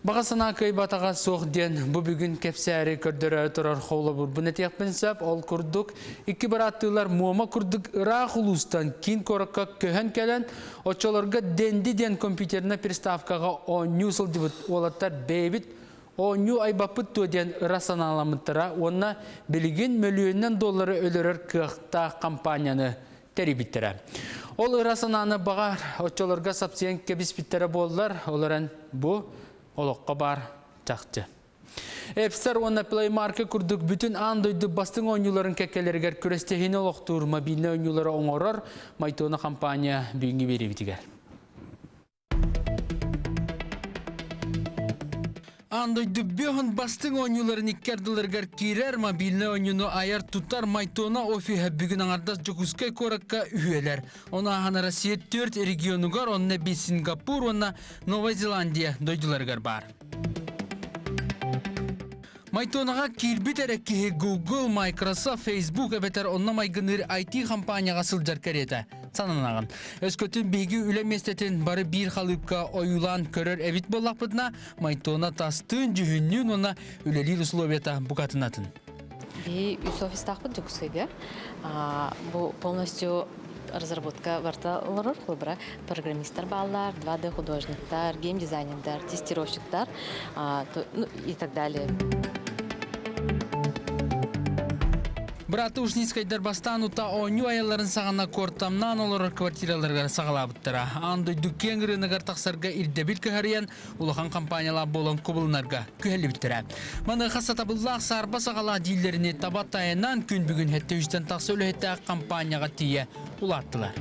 Баҕа санаа кыайбатаҕа суох диэн бу бүгүн кэпсээри көрдөрө турар холобурбун этиэхпин сөп. Ол курдук икки бырааттыылар Муома курдук ыраах улуустан киин куоракка көһөн кэлэн, оччолорго Денди диэн компьютернай приставкаҕа оонньуу сылдьыбыт уолаттар бэйэбит оонньуу айбаппыт дуо диэн ыра санааламмыттара уонна билигин мөлүйүөнүнэн доллары өлөрөр кыахтаах компанияны тэрийбиттэрэ. Ол ыра санааны баҕар оччолорго сапсыйан кэбиспиттэрэ буоллар, олорон бу олоххо бар чахчы. App Store уонна Play Market курдук бүтүн аан дойду бастыҥ оонньууларын кэккэлэригэр күрэстэһиини олохтуур мобильнай оонньуулары оҥорор Майтона компания бүгүҥҥү биэриибитигэр. Аан дойду бөһүн бастыҥ оонньууларын икки ардыларыгар киирэр мобильнай оонньууну айар тутар Майтона офиһа бүгүн аҥардас Дьокуускай куоракка үһүөлэр. Ону ааһан Россия төрт регионугар, онно би Сингапур уонна Новая Зеландия дойдуларыгар бар. Майтонаға киирбит эрэ киһи Google, Microsoft, Facebook эбэтэр онно майгыныыр I T компанияға сылдьар кэриэтэ сананаҕын. Өскөтүн биһиги үлэ миэстэтин бары биир халыыпка ойуулаан көрөр эбит буоллахпытына, Майтона тастыын, дьүһүннүүн уонна үлэлиир условията букатын атын. Биһи үс офистаахпыт Дьокуускайга. Бу полностью разработка барыта олорор, холобура, программисттар бааллар, два D художниктар, геймдизайнердар, тестировщиктар, ну, и так далее. Бырааттыы Ушницкайдар бастаан утаа оонньуу айалларын саҕана куортамнаан олорор квартираларыгар саҕалаабыттара. Аан дойду киэҥ рыногар тахсарга ирдэбил кыһарыйан, улахан компаниялаах буолан кубулунарга күһэллибиттэрэ. Маныаха сатабыллаах саарба саҕалаах дииллэринии таба тайанан күн бүгүн сэттэ сүүстэн тахса үлэһиттээх компанияҕа тиийэ улааттылар.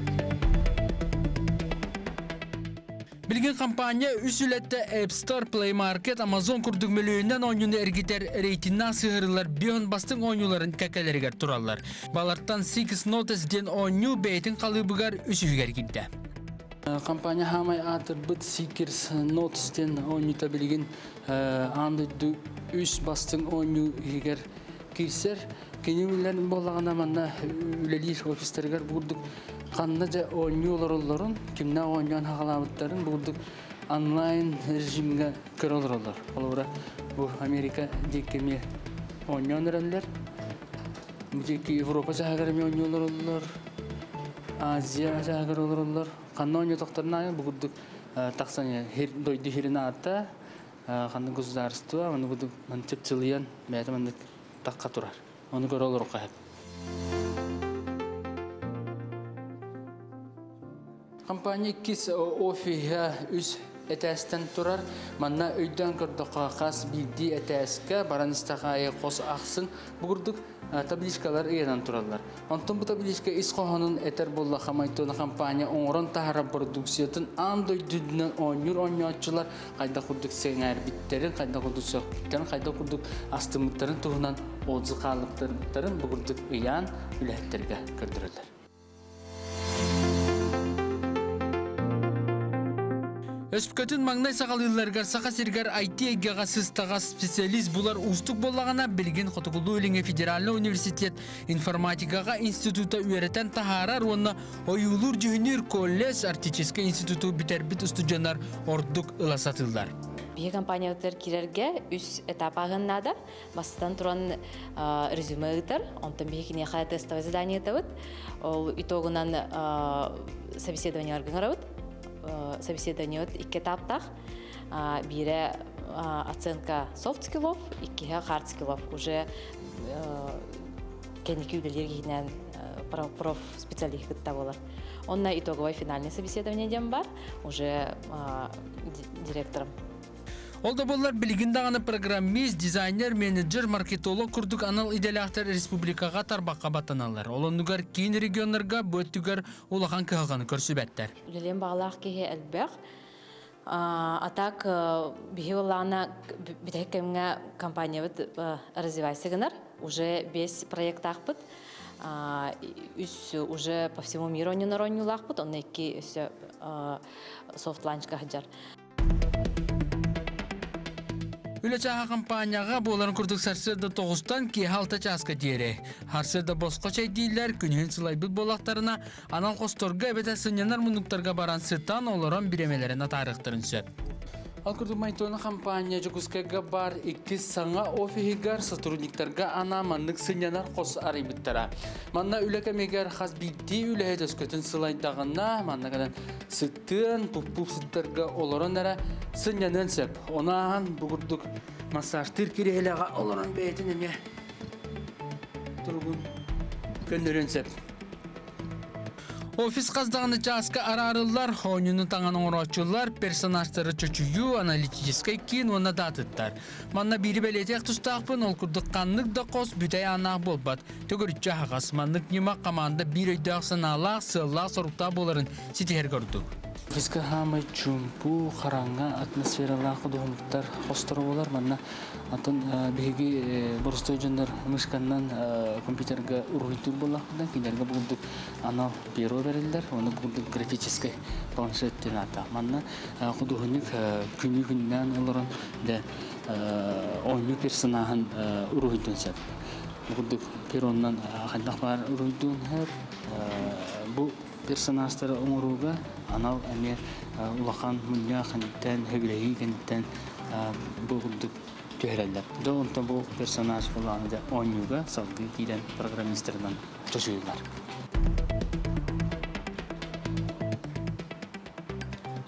Билигин компания үс үлэтэ App Store, Play Market, Amazon курдук мөлүйүөнүнэн оонньууну эргитэр рейтиннээх сыһыарыылар биэс уон бастыҥ оонньууларын кэккэлэригэр тураллар. Балартан Six Notes диэн оонньуу бэйэтин халыыбыгар үсүһүгэр киирдэ. Компания саамай аатырбыт Seekers Notes диэн оонньуута билигин аан дойду үс бастыҥ оонньуу иһигэр киирсэр. Кинилэр буоллаҕына манна үлэлиир офистарыгар бу курдук ханна дьэ оонньуу олороллорун, кимнээх оонньоон саҕалаабыттарын бу курдук онлайн режимҥэ көрө олороллор. Холобура, бу Америка диэки эмиэ оонньоон эрэллэр. Бу диэки Европа чааһыгар эмиэ оонньуу олороллор. Азия чааһыгар олороллор. Ханна оонньоотохторуна бу курдук тахсан дойду сирин аата, ханна государство, маны курдук чыпчылыйан, бэйэтэ маннык тахха турар. Ону көрө олоруохха сөп. Компания иккис офиһа үс этээстэн турар. Манна өйдөөн көрдөххө хас биирдии этээскэ баран истэх аайы хос ахсын бу курдук табличкалар ыйанан тураллар. Онтон бу табличка ис хоһоонун этэр буоллахха Майтона компания оҥорон таһаарар продукциятын аан дойдутунан оонньуур оонньооччулар хайдах курдук сэҥээрбиттэрин, хайдах курдук сөхпүттэрин, хайдах курдук астыммыттарын туһунан отзыв хаалларбыттарын бу курдук ыйаан үлэһиттэргэ көрдөрөллөр. Өскөтүн маҥнай саҕалыылларыгар Саха сиригэр I T эйгэҕэ сыстаҕас специалист булар уустук буоллаҕына, билигин Хотугулуу-Илиҥҥи федеральнай университет информатикаҕа института үөрэтэн таһаарар уонна ойуулуур-дьүһүннүүр колледж Арктическай институту бүтэрбит устудьуоннар ордук ыла сатыыллар. Биһиги компаниябытыгар киирэргэ үс этап ааһыан наада. Бастатан туран резюме ыытар, онтон биһиги киниэхэ тестовое задание ыытабыт. Ол итогунан собеседованиеларга ыҥырабыт. Собеседование икки этаптаах. Биирэ оценка soft skillов, иккиһэ hard skillов. Уже кэнники үлэлиир киһинэн проф специалист кытта буолар. Онно итоговое финальное собеседование диэн баар, уже директором. Ол да буоллар билигин даҕаны программист, дизайнер, менеджер, маркетолог курдук анал идэлээхтэр республикаҕа тарбахха баттаналлар. Ол оннугар киин регионнарга бу өттүгэр улахан кыһалҕаны көрсүбэттэр. Үлэлиэн баҕалаах киһи элбэх. А так биһи буоллаҕына бүтэһик кэмҥэ компаниябыт развивайся гынар. Уже биэс проекттаахпыт. Үс уже по всему миру оонньонор оонньуулаахпыт, онно икки өссө soft launchка сылдьар. Үлэ чааһа компанияҕа буоларын курдук сарсыарда тоҕустан киэһэ алта чааска диэри. Сарсыарда босхо чэйдииллэр, күнүһүн сылайбыт буоллахтарына анал хосторго эбэтэр сынньанар муннуктарга баран сытан олорон бириэмэлэрин атаарыахтарын сөп. Ол курдук Майтона компания Дьокуускайга баар иккис саҥа офиһыгар сотрудниктарга анаан маннык сынньанар хос арыйбыттара. Манна үлэ кэмигэр хас биирдии үлэһит өскөтүн сылайдаҕына, манна кэлэн сытыан, пуп сыттарга олорон эрэ сынньаныан сөп. Ону ааһан бу курдук массажтыыр кириэһилэҕэ олорон бэйэтин эмиэ туругун көннөрүөн сөп. Офис хас даҕаны чааска араарыллар, оонньууну таҥан оҥорооччулар, персонажтары чочуйуу, аналитическай киин уонна да атыттар. Манна биири бэлиэтиэх тустаахпын, ол курдук ханнык да хос бүтэй ааннаах буолбат. Төгүрүччү аһаҕас, маннык ньыма команда биир өйдөөх санаалаах, сыаллаах соруктаах буоларын ситиһэргэ ордук. Офиска саамай чуумпу, хараҥа атмосфералаах худуоһунньуктар хосторо буолар. Манна атын биһиги боростуой дьоннор мышканнан компьютерга уруһуйдуур буоллахпытына, кинилэргэ бу курдук анал перо бэриллэр, ону бу курдук графическай планшет диэн ааттаах. Манна худуоһунньук күнү күннээн олорон дьэ Оонньуу персонажын уруһуйдуон сөп. Бу пероннан хайдах баар уруһуйдуон сөп. Бу персонажтары оҥорууга анал эмиэ улахан мунньах кэнниттэн, сөбүлэһии кэнниттэн бу курдук түһэрэллэр. Дьэ онтон бу персонаж буолааны оонньууга салгыы киирэн программистарынан чочуйуллар.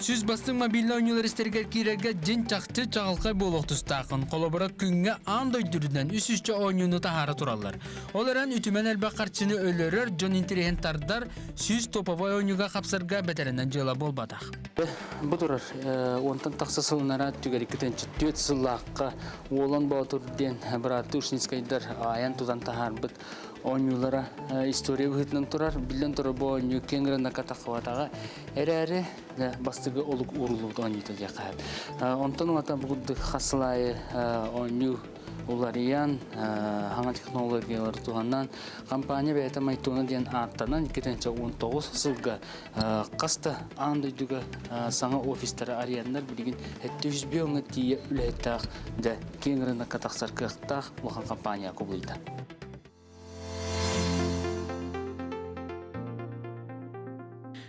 Сүз бастың мобильный ойнулар истергер кирерге дин чақчы чағылқай болуқ тұстақын. Қолобыра күнге аан дойдүрүнен үс үсче ойнуну тахара тураллар. Ол эрен үтүмен элбэх харчыны өлөрөр, жон интерехен тардар, сүз топовой ойнуга қапсырга бетеренен жыла болбатақ. Бу турар, онтан тақса сылынара түгер иккитинчи түөт сыллааққа Уолан Боотур диэн браты Ушницкайдар аян тутан тахарбыт ойнулара история быһытынан турар, билен турар бу ойну кеңгрен накатаққабатаға эрээри бастыгы олук урулубут ойнута диэхэ. Онтон улата бугудды хасылайы ойну уларыян хаңа технологиялар туһанан компания бэйэтэ Майтона диэн ааттанан иккитинчи он тоҕус сылга қаста аан дойдуга саҥа офистары арыйаннар билигин хэтти жүз биоҥа тиийэ үлэһиттаах да киэҥ рынокка тахсар кыахтаах улахан компания кубулуйда.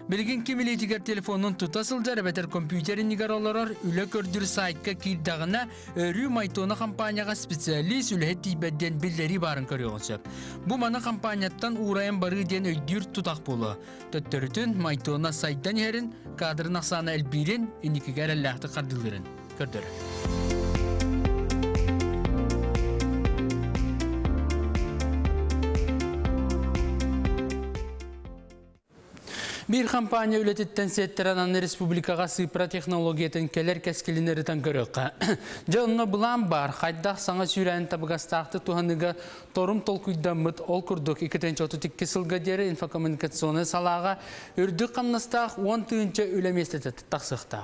Билигин ким илиитигэр телефонун тута сылдьар эбэтэр компьютеринигэр олорор үлэ көрдүр сайтка киирдэҕинэ өрүү Майтона компанияҕа специалист үлэһит тиийбэт диэн биллэрии баарын көрүөҕүн сөп. Бу маны компанияттан уурайан барыы диэн өйдүүр тутах буолуо. Төттөрүтүн Майтона сайдан иһэрин, кадрын ахсаана элбиирин, инникигэ эрэллээхтик хардыылыырын көрдөрөр. Бір компания үлетіттен сеттерін аны республикаға сыпра технологиятын келер кәскілінерітен көріққа. Жа онна бұлан бар, қайдақ саңа сүйрән табығастақты туғаныға торум толкуйдамыт ол күрдік иккитинчи отуз икки сылға дері инфокоммуникационы салаға үрді қамнастақ он тыынча үлеместеті тақсықта.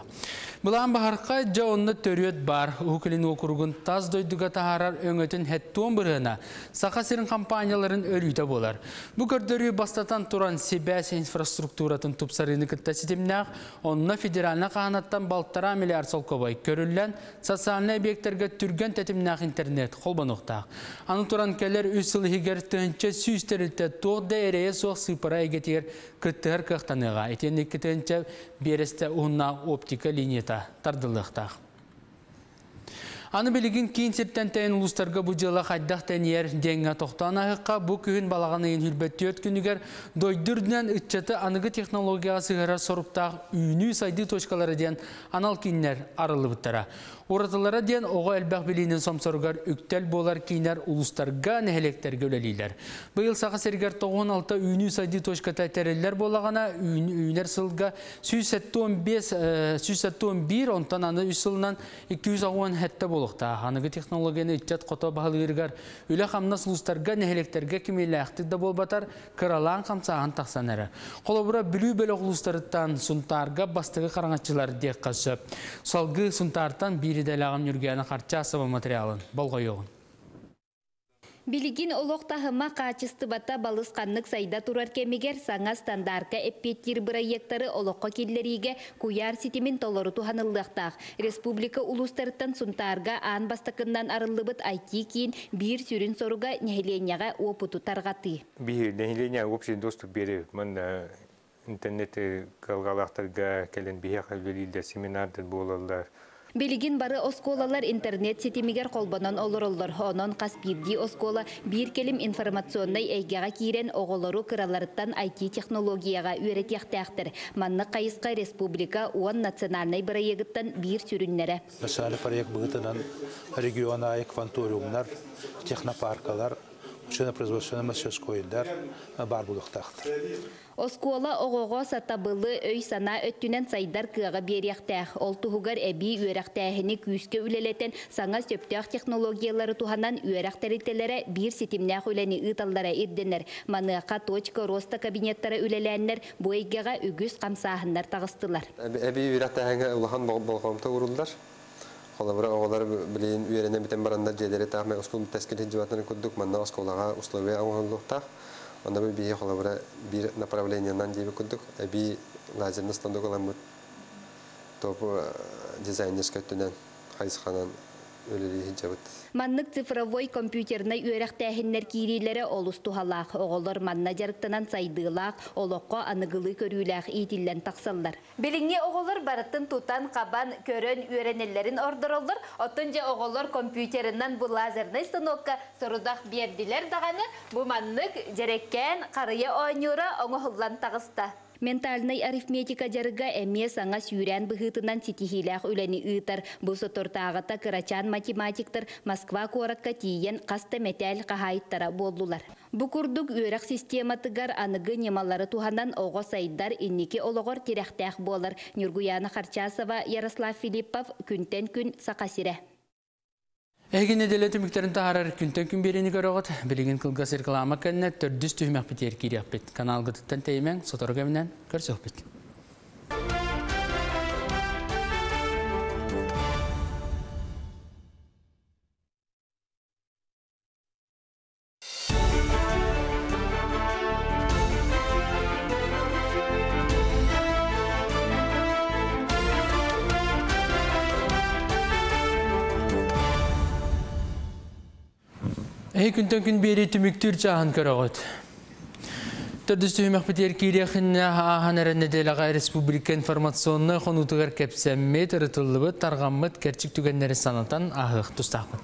Бұлан бахарқа жа онна төрөт бар, Ухукилин округун таз дойдуға тахарар өңөтін хәттуон бұрғына сақа сирин компанияларын өлүйті болар. Бұ көрдөрүү бастатан туран себәс инфраструктуратын тупсарыны кытта ситимнәк, онна федеральна қағанаттан балтара миллиард солкобай көрүллән социальный объекттерге түрген тәтимнәк интернет холбануқтақ. Аны туран келер үс сыл хигер тыынча сүүс терилте тоқ дәрее соқ сыпара эгетигер кыттыгар кыктаныга. Этенни кытынча бересте уһунна оптика линията тардылыктак. Аны билигин кийин сиртен тәйін улустарга бу жыла хайдах тәниер денге тоқтан ағыққа бу күхін балағаны ең хүрбәттүйет күнігер дойдүрдінен үтчеті аныгы технологияға сығара соруптақ үйіні сайды точкалары ден анал кейіннер арылы бұттара. Оратылара ден оға әлбәқ билинин сомсоругар үктел болар кейінер улустарга нәхелектерге өлелейлер. Быйыл сақа сергер тоғыз алты үйіні сайды точката тәрелер болағана үйінер сылға сүүс он бес, сүүс он бир, онтан аны үс сылынан икки жүз он хәтті болуқта. Аныгы технологияны үтчет қото бағылыргар үлі қамнас улустарга нәхелектерге кемелі да болбатар кыралаан қамсаған тақсан әрі. Қолобыра бүлі бөлі улустарыттан сунтарга бастығы қараңатчылар дек қасы. Салгы сунтартан бири дәлағын үргәні қарча асыба материалын болға yoğun. Билигин олох тахыма качыстыбата балысқаннык сайда турар кемигер саңа стандарка эппеттир проекттары олоққа киллериге куяр ситимин толору туханыллыктаах. Республика улустарыттан сунтарга аан бастакыннан арыллыбыт ай ти кийин бир сүрүн соруга нехиленяга опуту таргаты. Бир нехиленя общий доступ бере мын интернет калгалактарга келен бихе калбелилде семинардыр болалар. Билигин бары осколалар интернет сетимигер колбонон олороллор. Онон кас бирди оскола бир келим информационный эйгега кирен оголору кыраларыттан ай ти технологияга үйрөтияктаактыр. Манны кайыска республика он национальный проекттан бир сүрүннере. Национальный проект быгытынан региона кванториумнар, технопаркалар, учебно-производственный мастерскойдар бар булуктактыр. Оскола оғоға сатабылы өй сана өттінен сайдар кыға берияқтәқ. Ол туһугар әби үйрәқтәхіні күйіске үлелетен саңа сөптәқ технологиялары туханан үйрәқтәрителері бир сетимнәқ үләні ыталлара ирденер. Маныақа точка роста кабинеттары үлеләннер бу эйгеға үгіз қамсағындар тағыстылар. Әби үйрәқтәхіні улахан болғамта урулдар. Холабыра оғалар білейін үйренен бітен барандар жедері тағмай оскол тәскіл хиджибатын күддік манна осколаға условия оңғанлықтақ. Онда бір бейе холабыра бір направлениянан дейбі күддік. Әби лазерні станок аламыт топ дизайнерскә түнән хайысханан үлэлии сылдьабыт. Маннык цифровой компьютернай үөрэхтээһиннэр киириилэрэ олус туһалаах. Оҕолор манна дьарыктанан сайдыылаах, олоххо аныгылыы көрүүлээх иитиллэн тахсаллар. Билиҥҥи оҕолор барытын тутан-хабан, көрөн үөрэнэллэрин ордороллор. Оттон дьэ оҕолор компьютерынан бу лазернай станокка сорудах биэрдилэр даҕаны, бу маннык дьэрэкээн харыйа оонньуура оҥоһуллан таҕыста. Ментальнай арифметика дьарыга эмиэ саҥа сүүрээн быһыытынан ситиһиилээх үлэни ыытар. Бу соторутааҕыта кырачаан математиктар Москва куоракка тиийэн хас да мэтээл хаһаайыттара буоллулар. Бу курдук үөрэх систематыгар аныгы ньымалары туһанан оҕо сайдар, инники олоҕор тирэхтээх буолар. Ньургуйаана Харчасова, Ярослав Филиппов, Күнтэн күн, Саха сирэ. Эһиги нэдиэлэ түмүктэрин таһаарар күнтэн күн биэриини көрөҕүт. Билигин кылгас реклама кэннэ төрдүс түһүмэхпитигэр киириэхпит. Каналгытыттан тэйимэҥ, сотору кэминэн көрсүөхпүт. Эһиги күнтэн күн биэрии түмүктүүр чааһын көрөҕүт. Төрдүс түһүмэхпитигэр киириэхиннэ ааһан эрэр нэдиэлэҕэ республика информационнай хонуутугар кэпсэммит, ырытыллыбыт, тарҕаммыт кэрчик түгэннэри санатан ааһыах тустаахпын.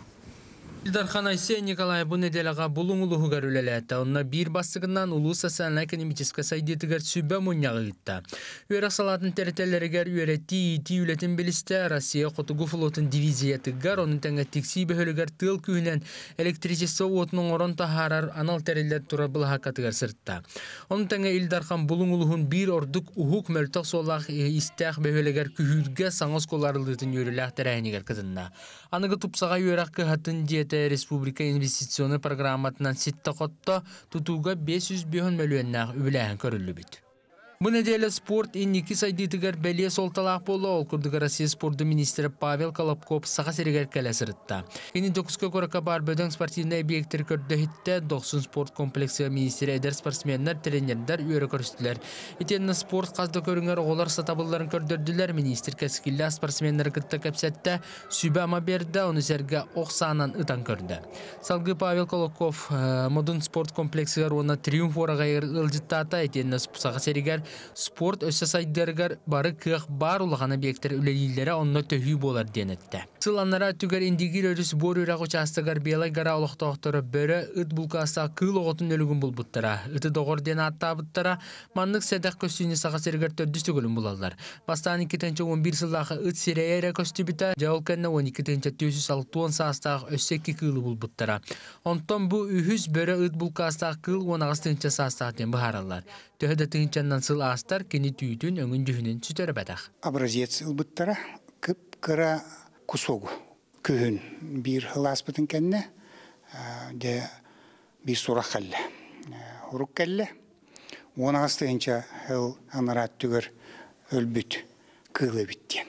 Ил Дархан Айсен Николаев бу нэдиэлэҕэ Булуҥ улууһугар үлэлээтэ. Онно биир бастакынан улуус социальнай-экономическай сайдыытыгар сүбэ мунньаҕы ыытта. Үөрэх салаатын тэрилтэлэригэр үөрэтии, иитии үлэтин билистэ. Россия Хотугу флотун дивизиятыгар, онун тэҥэ Тиксии бөһүөлэгэр тыал күүһүнэн электричество уотун оҥорон таһаарар анал тэриллэр турар былаһааккатыгар сырытта. Онун тэҥэ Ил Дархан Булуҥ улууһун биир ордук уһук мөлтөх суоллаах истээх бөһүөлэгэр күһүүргэ саҥа оскуола арыллыытын үөрүүлээх тэрээһинигэр кытынна. Аныгы тупсаҕай үөрэх кыһатын дьиэтэ республика инвестиционнай программатынан ситте хотто тутууга биэс сүүс биэс мөлүйүөннээх үбүлээһин көрүллүбүт. Бу нэдиэлэ спорт инники сайдыытыгар бэлиэ суолталаах буолла. Ол курдук Россия спорду министрэ Павел Колобков Саха сиригэр кэлэ сырытта. Кини Дьокуускай куоракка баар бөдөҥ спортивнай объектары көрдөһүттэ. Дохсун спорт комплексыгар министрэ эдэр спортсменнар, тренердэр үөрэ көрүстүлэр. Итиэннэ спорт хас да көрүҥэр оҕолор сатабылларын көрдөрдүлэр. Министр кэскиллээх спортсменнары кытта кэпсэттэ, сүбэ-ама биэрдэ, ону сэргэ ох саанан ытан көрдө. Салгыы Павел Колобков Модун спорт комплексыгар уонна Триумф уораҕайыгар ыалдьыттаата. Итиэннэ Саха сиригэр спорт өссө сайдарыгар бары кыах баар улахан объекттэр үлэлииллэрэ онно төһүү буолар диэн эттэ. Сыл аннара өттүгэр Индигир өрүс буор үрэх учаастагар Белай гора олохтоохторо бөрө ыт булкаастаах кыыл оҕотун өлүгүн булбуттара. Ыты доҕор диэн ааттаабыттара. Маннык сэдэх көстүүнү Саха сиригэр төрдүс төгүлүн булаллар. Бастаан икки тыһыынча уон биир сыллаахы ыт сирэйэ эрэ көстүбүтэ. Дьэ ол кэннэ уон икки тыһыынча түөрт сүүс алта уон саастаах өссө икки кыылы булбуттара. Онтон бу үһүс бөрө ыт булкаастаах кыыл уон аҕыс тыһыынча саастаах диэн быһаараллар. Төһө да тыһыынчаннан сыл астар кини түүтүн өҥүн дьүһүнүн сүтэрбэтэх. Образец ылбыттара кып-кыра кусогу күһүн биир ылааспытын кэннэ дьэ биир сурах кэллэ. Урук кэллэ. Уон аҕыс тыһыынча ыл анараат түгэр өлбүт кыыл эбит диэн.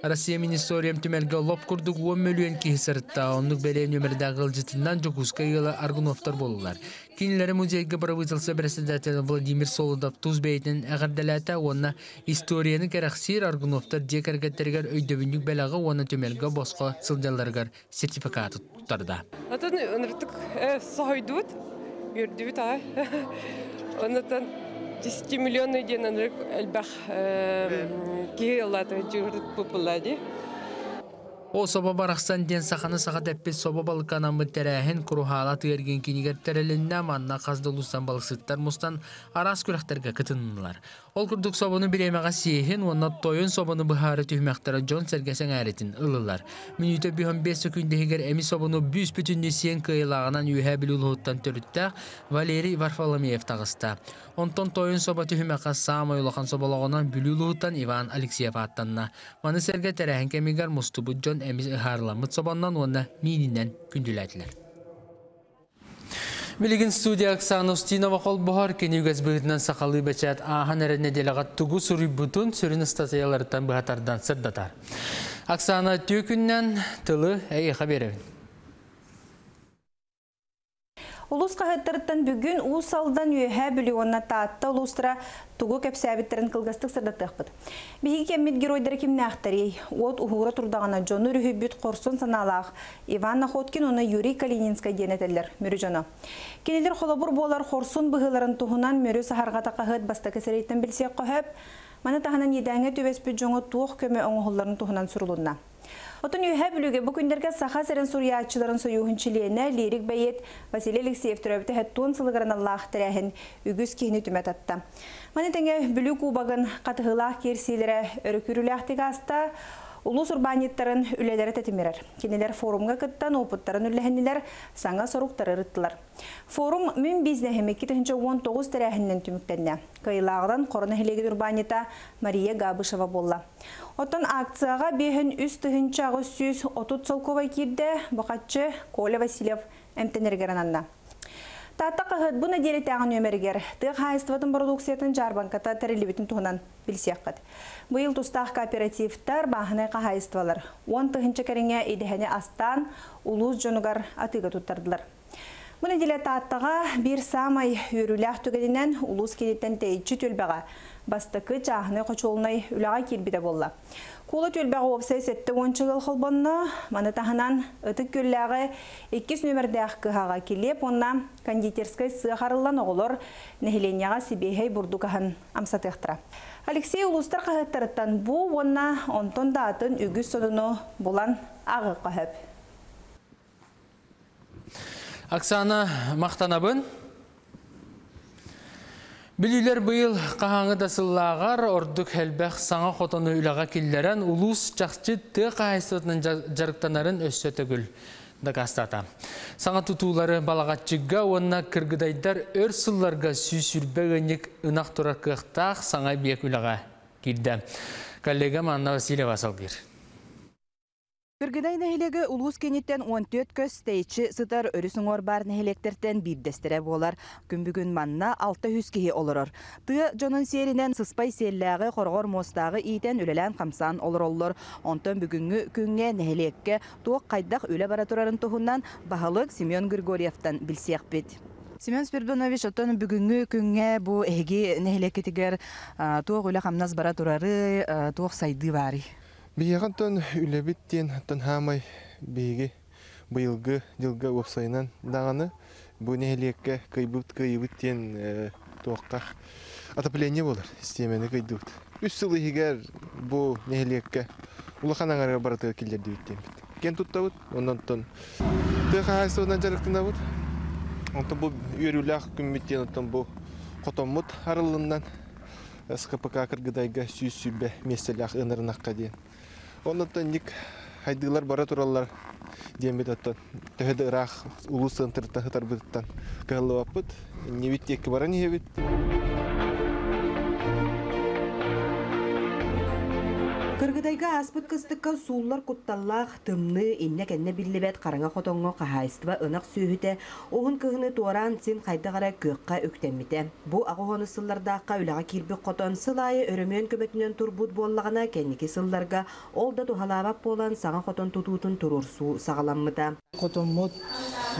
Россия Министериям түмэлгэ лоп курдук уон мөлүйүөн киһи сырытта. Оннук бэлиэ нөмердээҕи ылдьытынан Дьокуускай ыала Аргуновтар буоллулар. Кинилэри музейга правительство председателэ Владимир Солодов тус бэйэтин эҕэрдэлээтэ уонна историяны кэрэхсиир Аргуновтар дьиэ кэргэттэригэр өйдөбүнньүк бэлэҕи уонна түмэлгэ босхо сылдьалларыгар сертификаты туттарда. Отон ыныртык соһойдубут, үөрдүбүт аҕай. Оннотон десять миллионный диэн ынырык элбэх киһи ыллаата дьуурут пупулла ди. О собо барахсан диэн саханы саха дэппит собо балыканаммыт тэрээһин куруһаала тыэргин кинигэр тэрилиннэ манна хас да улуустан балыксыттар мустан араас күрэхтэргэ кытыннылар. Ол курдук собону бириэмэҕэ сиэһин уонна тойон собону быһаары түһүмэхтэрэ дьон сэргэсэҥ ээритин ылылар. Мүнүүтэ бүһөн бэс сөкүүндэһигэр эми собону бүүс бүтүннүү сиэн кыайылааҕынан үөһээ Бүлүү улууһуттан төрүттээх Валерий Варфоломеев таҕыста. Онтон тойон собо түһүмэххэ саамай улахан соболоҕунан Бүлүү улууһуттан Иван Алексеев ааттанна. Маны сэргэ тэрээһин кэмигэр мустубут дьон эмис ыһаарыламмыт собоннон уонна миининэн күндүлээтилэр. Билигин студия Оксана Устинова холбоһор кини үгэс быһыытынан сахалыы бэчээт ааһан эрэ нэдиэлэҕэ тугу суруйбутун сүрүн ыстатыйаларыттан быһатардан сырдатар. Оксана, түө күннэн тылы эйиэхэ биэрэбин. Улус хаһыаттарыттан бүгүн Уус Алдан, Үөһээ Бүлүү уонна Таатта улуустара тугу кэпсээбиттэрин кылгастык сырдатыахпыт. Биһиги кэммит геройдара кимнээхтэрий? Уот уһуура турдаҕына дьону өрүһүйбүт хорсун санаалаах Иван Находкин уонна Юрий Калининскай диэн этэллэр Мүрү дьоно. Кинилэр холобур буолар хорсун быһыыларын туһунан Мүрү саһарҕата хаһыат бастакы сирэйиттэн билсиэххэ сөп. Маны таһынан иэдээҥҥэ түбэспит дьоҥҥо туох көмө оҥоһулларын туһунан сурулунна. Оттон Үөһээ Бүлүүгэ бу күннэргэ Саха сирин суруйааччыларын сойууһун чилиэнэ, лирик бэйиэт Василий Алексеев төрөөбүтэ сэттэ уон сылыгар аналлаах тэрээһин үгүс киһини түмэ татта. Маны тэҥэ Бүлүү кубогын хатыһыылаах киирсиилэрэ өрө күүрүүлээхтик ааста. Улуус урбаанньыттарын үлэлэрэ тэтимирэр. Кинилэр форумҥа кыттан уопуттарын үллэһиннилэр, саҥа соруктары ырыттылар. Форум Мин бизнеһим икки тыһыынча уон тоҕус тэрээһининэн түмүктэннэ. Кыайыылааҕынан Хоро нэһилиэгин урбаанньыта Мария Габышева буолла. Оттон акцияҕа биэһин үс тыһыынча аҕыс сүүс отут солкуобай киирдэ, бухатчы Коля Васильев эмтэнэригэр ананна. Таатта хаһыат бу нэдиэлэтээҕи нүөмэригэр тыа хаһаайыстыбатын бородууксуйатын дьаарбаҥката тэриллибитин туһунан билсиэххит. Быйыл тустаах кооперативтар, бааһынай хаһаайыстыбалар уон тыһыынча кэриҥэ идэһэни астаан улуус дьонугар атыыга туттардылар. Бу нэдиэлэ Тааттаҕа биир саамай үөрүүлээх түгэнинэн улуус кииниттэн тэйиччи түөлбэҕэ бастакы чааһынай хочуолунай үлэҕэ киирбитэ буолла. Куула түөлбэҕэ уопсай сэттэ уонча ыал холбонно, маны таһынан Ытык Күөллээҕи иккис нүөмэрдээх кыһаҕа килиэп уонна кондитерскай сыах арыллан оҕолор нэһилиэнньэҕэ сибиэһэй бурдук аһын амсатыахтара. Алексей улуустар хаһыаттарыттан бу уонна онтон да атын үгүс сонуну булан ааҕыахха сөп. Оксана, махтанабын. Бүлүүлэр быйыл хаһааҥҥы да сыллааҕар ордук элбэх саҥа хотону үлэҕэ киллэрэн улуус чахчы тыа хаһаайыстыбатынан дьарыктанарын өссө төгүл дакаастаата. Саҥа тутуулары Балаҕаччыга уонна Кыргыдайдар өр сылларга сүүс сүүрбэ ыанньык ынах турар кыахтаах саҥа эбийиэк үлэҕэ киирдэ. Коллегам Анна Васильева салгыыр. Кыргыдай нэһилиэгэ улуус кииниттэн уон түөрт көс тэйиччи сытар өрүс уҥуор баар нэһилиэктэртэн биирдэстэрэ буолар. Күн бүгүн манна алта үс киһи олорор. Тыа дьонун сиэринэн сыспай сиэллээҕи, хороҕор муостааҕы иитэн үлэлээн-хамсаан олороллор. Онтон бүгүҥҥү күҥҥэ нэһилиэккэ туох хайдах үлэ бара турарын туһунан баһылык Семен Григорьевтан билсиэхпит. Семен Спиридонович, оттон бүгүҥҥү күҥҥэ бу эһиги нэһилиэккитигэр туох үлэ-хамнас бара турары, туох сайдыы баарый? Биһиэхэ оттон үлэбит диэн оттон хаамай биһиги быйылгы дьылга уопсайынан даҕаны бу нэһилиэккэ кыайбыт кыайыбыт диэн туохха отопление буолар систиэмэни кыйдыбыт. Үс сыл иһигэр бу нэһилиэккэ улахан аҥарыгар барытыгар киллэрдибит диэммит. Киэн туттабыт, онон оттон тыа хаһаайыстыбатынан дьарыктанабыт. Онтон бу үөрүүлээх күммүт диэн оттон бу хотоммут арыллыннан эс ка пэ ка Кыргыдайга сүүс сүүрбэ миэстэлээх ынырынахха диэн. Оннуттан ник хайдыылар бара тураллар диэммит оттон төһө да ыраах улуус центрыттан сытарбытыттан кыһаллыбаппыт. Иннибит диэки баран иһэбит. Кыргыдайга ааспыт кыстыкка сууллар кутталлаах тымныы иннэ-кэннэ биллибэт хараҥа хотоҥҥо хаһаайыстыба ынах сүөһүтэ уһун кыһыны туораан син хайдах эрэ күөххэ үктэммитэ. Бу аҕыс уон сыллардаахха үлэҕэ киирбит хотон сыл аайы өрөмүөн көмөтүнэн турбут буоллаҕына кэнники сылларга ол да туһалаабат буолан саҥа хотон тутуутун туруорсуу саҕаламмыта. Хотоммут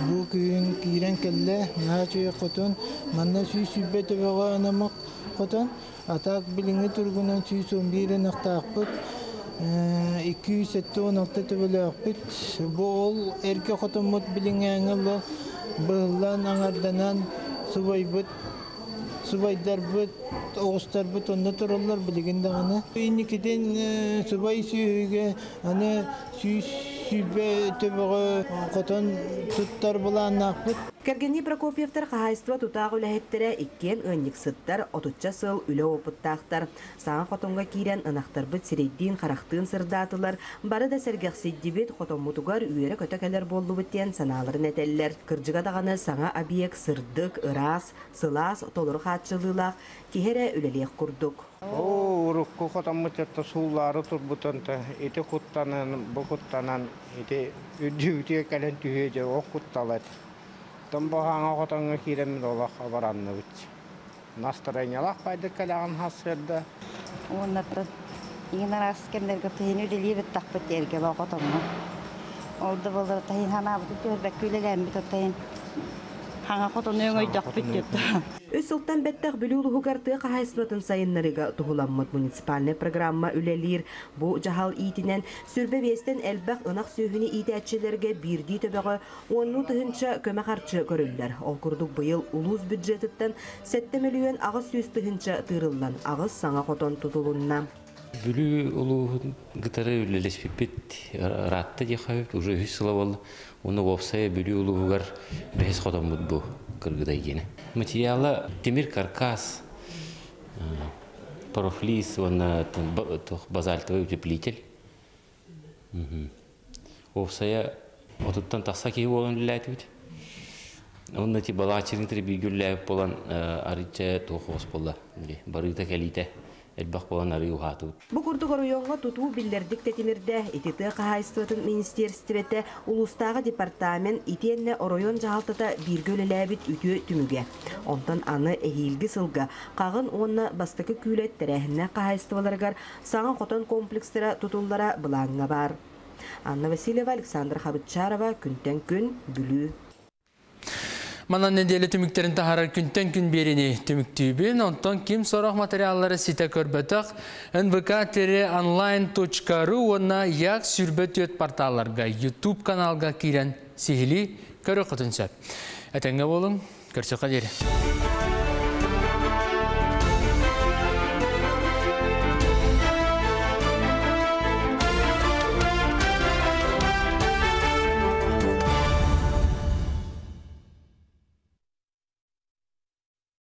бу күн киирэн кэллэ, наһаа үчүгэй хотон, манна сүүс сүүрбэ төбөҕө анаммыт хотон, атак билиҥҥи туругунан сүүс он биир ынахтаахпыт, икки жүз сэттэ уон алта төбөлөөхпүт. Бу ол эргэ хотоммут билиҥҥээҥҥэ ыла быһыллан, аҥарданан субайбыт, субайдарбыт, оҕустарбыт онно тураллар билигин даҕаны. Инникитин субай сүүһүгэ аны сүүс сүүрбэ төбөҕө хотон туттар былааннаахпыт. Кэргэнни Прокопьевтар хаһаайыстыба тутаах үлэһиттэрэ иккиэн ыанньыксыттар, отучча сыл үлэ опыттаахтар. Саҥа хотоҥҥо киирэн ынахтарбыт сирэйдиин харахтыын сырдаатылар, бары да сэргэхсийдибит хотоммутугар үөрэ-көтө кэлэр буоллубут диэн санааларын этэллэр. Кырдьыга даҕаны саҥа объект сырдык, ыраас, сылаас, толору хааччылыылаах киһи эрэ үлэлиэх курдук. Оо, урукку хотоммут этэ сууллаары турбутунта, ити куттанан, бу куттанан, ити үрдүбүтүгэр кэлэн түһүө дьэ, ол кутталат. Томбоһааҥа хотоҥҥо киирэммит олох абаранныбыт. Настроениялаах байдык кэлэҕин хассыарда. Уоннаттан иҥин араас кэмнэргэ тыһын үлэлиибит тахпыт эргэ хотоҥҥо. Ол да буоллар тыһын ханаабыт түһэрбэккэ үлэлээммит оттайын. Хаңа хотону өңөйдөхпүт деп. Үс сылтан бэттэх Бүлүү улууһугар тыа хаһаайыстыбатын сайыннарыыга туһуламмыт муниципальнай программа үлэлиир. Бу дьаһал иитинэн сүүрбэ биэстэн элбэх ынах сүөһүнү иитээччилэргэ биирдии төбөҕө уоннуу тыһыынча көмө харчы көрүллэр. Ол курдук быйыл улуус бюджетыттан сэттэ мөлүйүөн аҕыс сүүс тыһыынча тыырыллан аҕыс саҥа хотон тутулунна. Бүлүү улууһун кытары үлэлэспиппит ыраатта диэххэ сөп, уже үһүс сыла буолла. Уонна уопсайа Бүлүү улууһугар бэһис хотоммут бу Кыргыдай диэни. Материала тимир каркас, профлист уонна базальтовый утеплитель. Уопсайа отуттан тахса киһи буолан үлэлээтибит. Онно ти балаачырын бииргэ үлэлээбит буолан арыйча туох хос буолла. Барыыта кэлиитэ элбэх буолан арыы уһаатыбыт. Бу курдук оройуоҥҥа тутуу биллэрдик тэтимирдэ. Ити тыа хаһаайыстыбатын министиэристибэтэ, улуустааҕы департамент итиэннэ оройуон дьаһалтата бииргэ үлэлээбит үтүө түмүгэ. Онтон аны эһиилги сылга Хаҕын уонна Бастакы Күүлэт тэрээһиннээх хаһаайыстыбаларыгар саҥа хотон комплекстара тутуллара былааҥҥа баар. Анна Васильева, Александра Хабытчарова, Күнтэн күн, Бүлүү. Манан нэдиэлэ түмүктэрин таһаарар Күнтэн күн биэриини түмүктүүбүн, онтон ким сорох материаллары ситэ көрбөтөх нвк онлайн точка ру уонна як сүүрбэ түөрт порталларга, YouTube каналга киирэн сиһилии көрүөххүтүн сөп. Этэҥҥэ буолуҥ, көрсүөххэ диэри.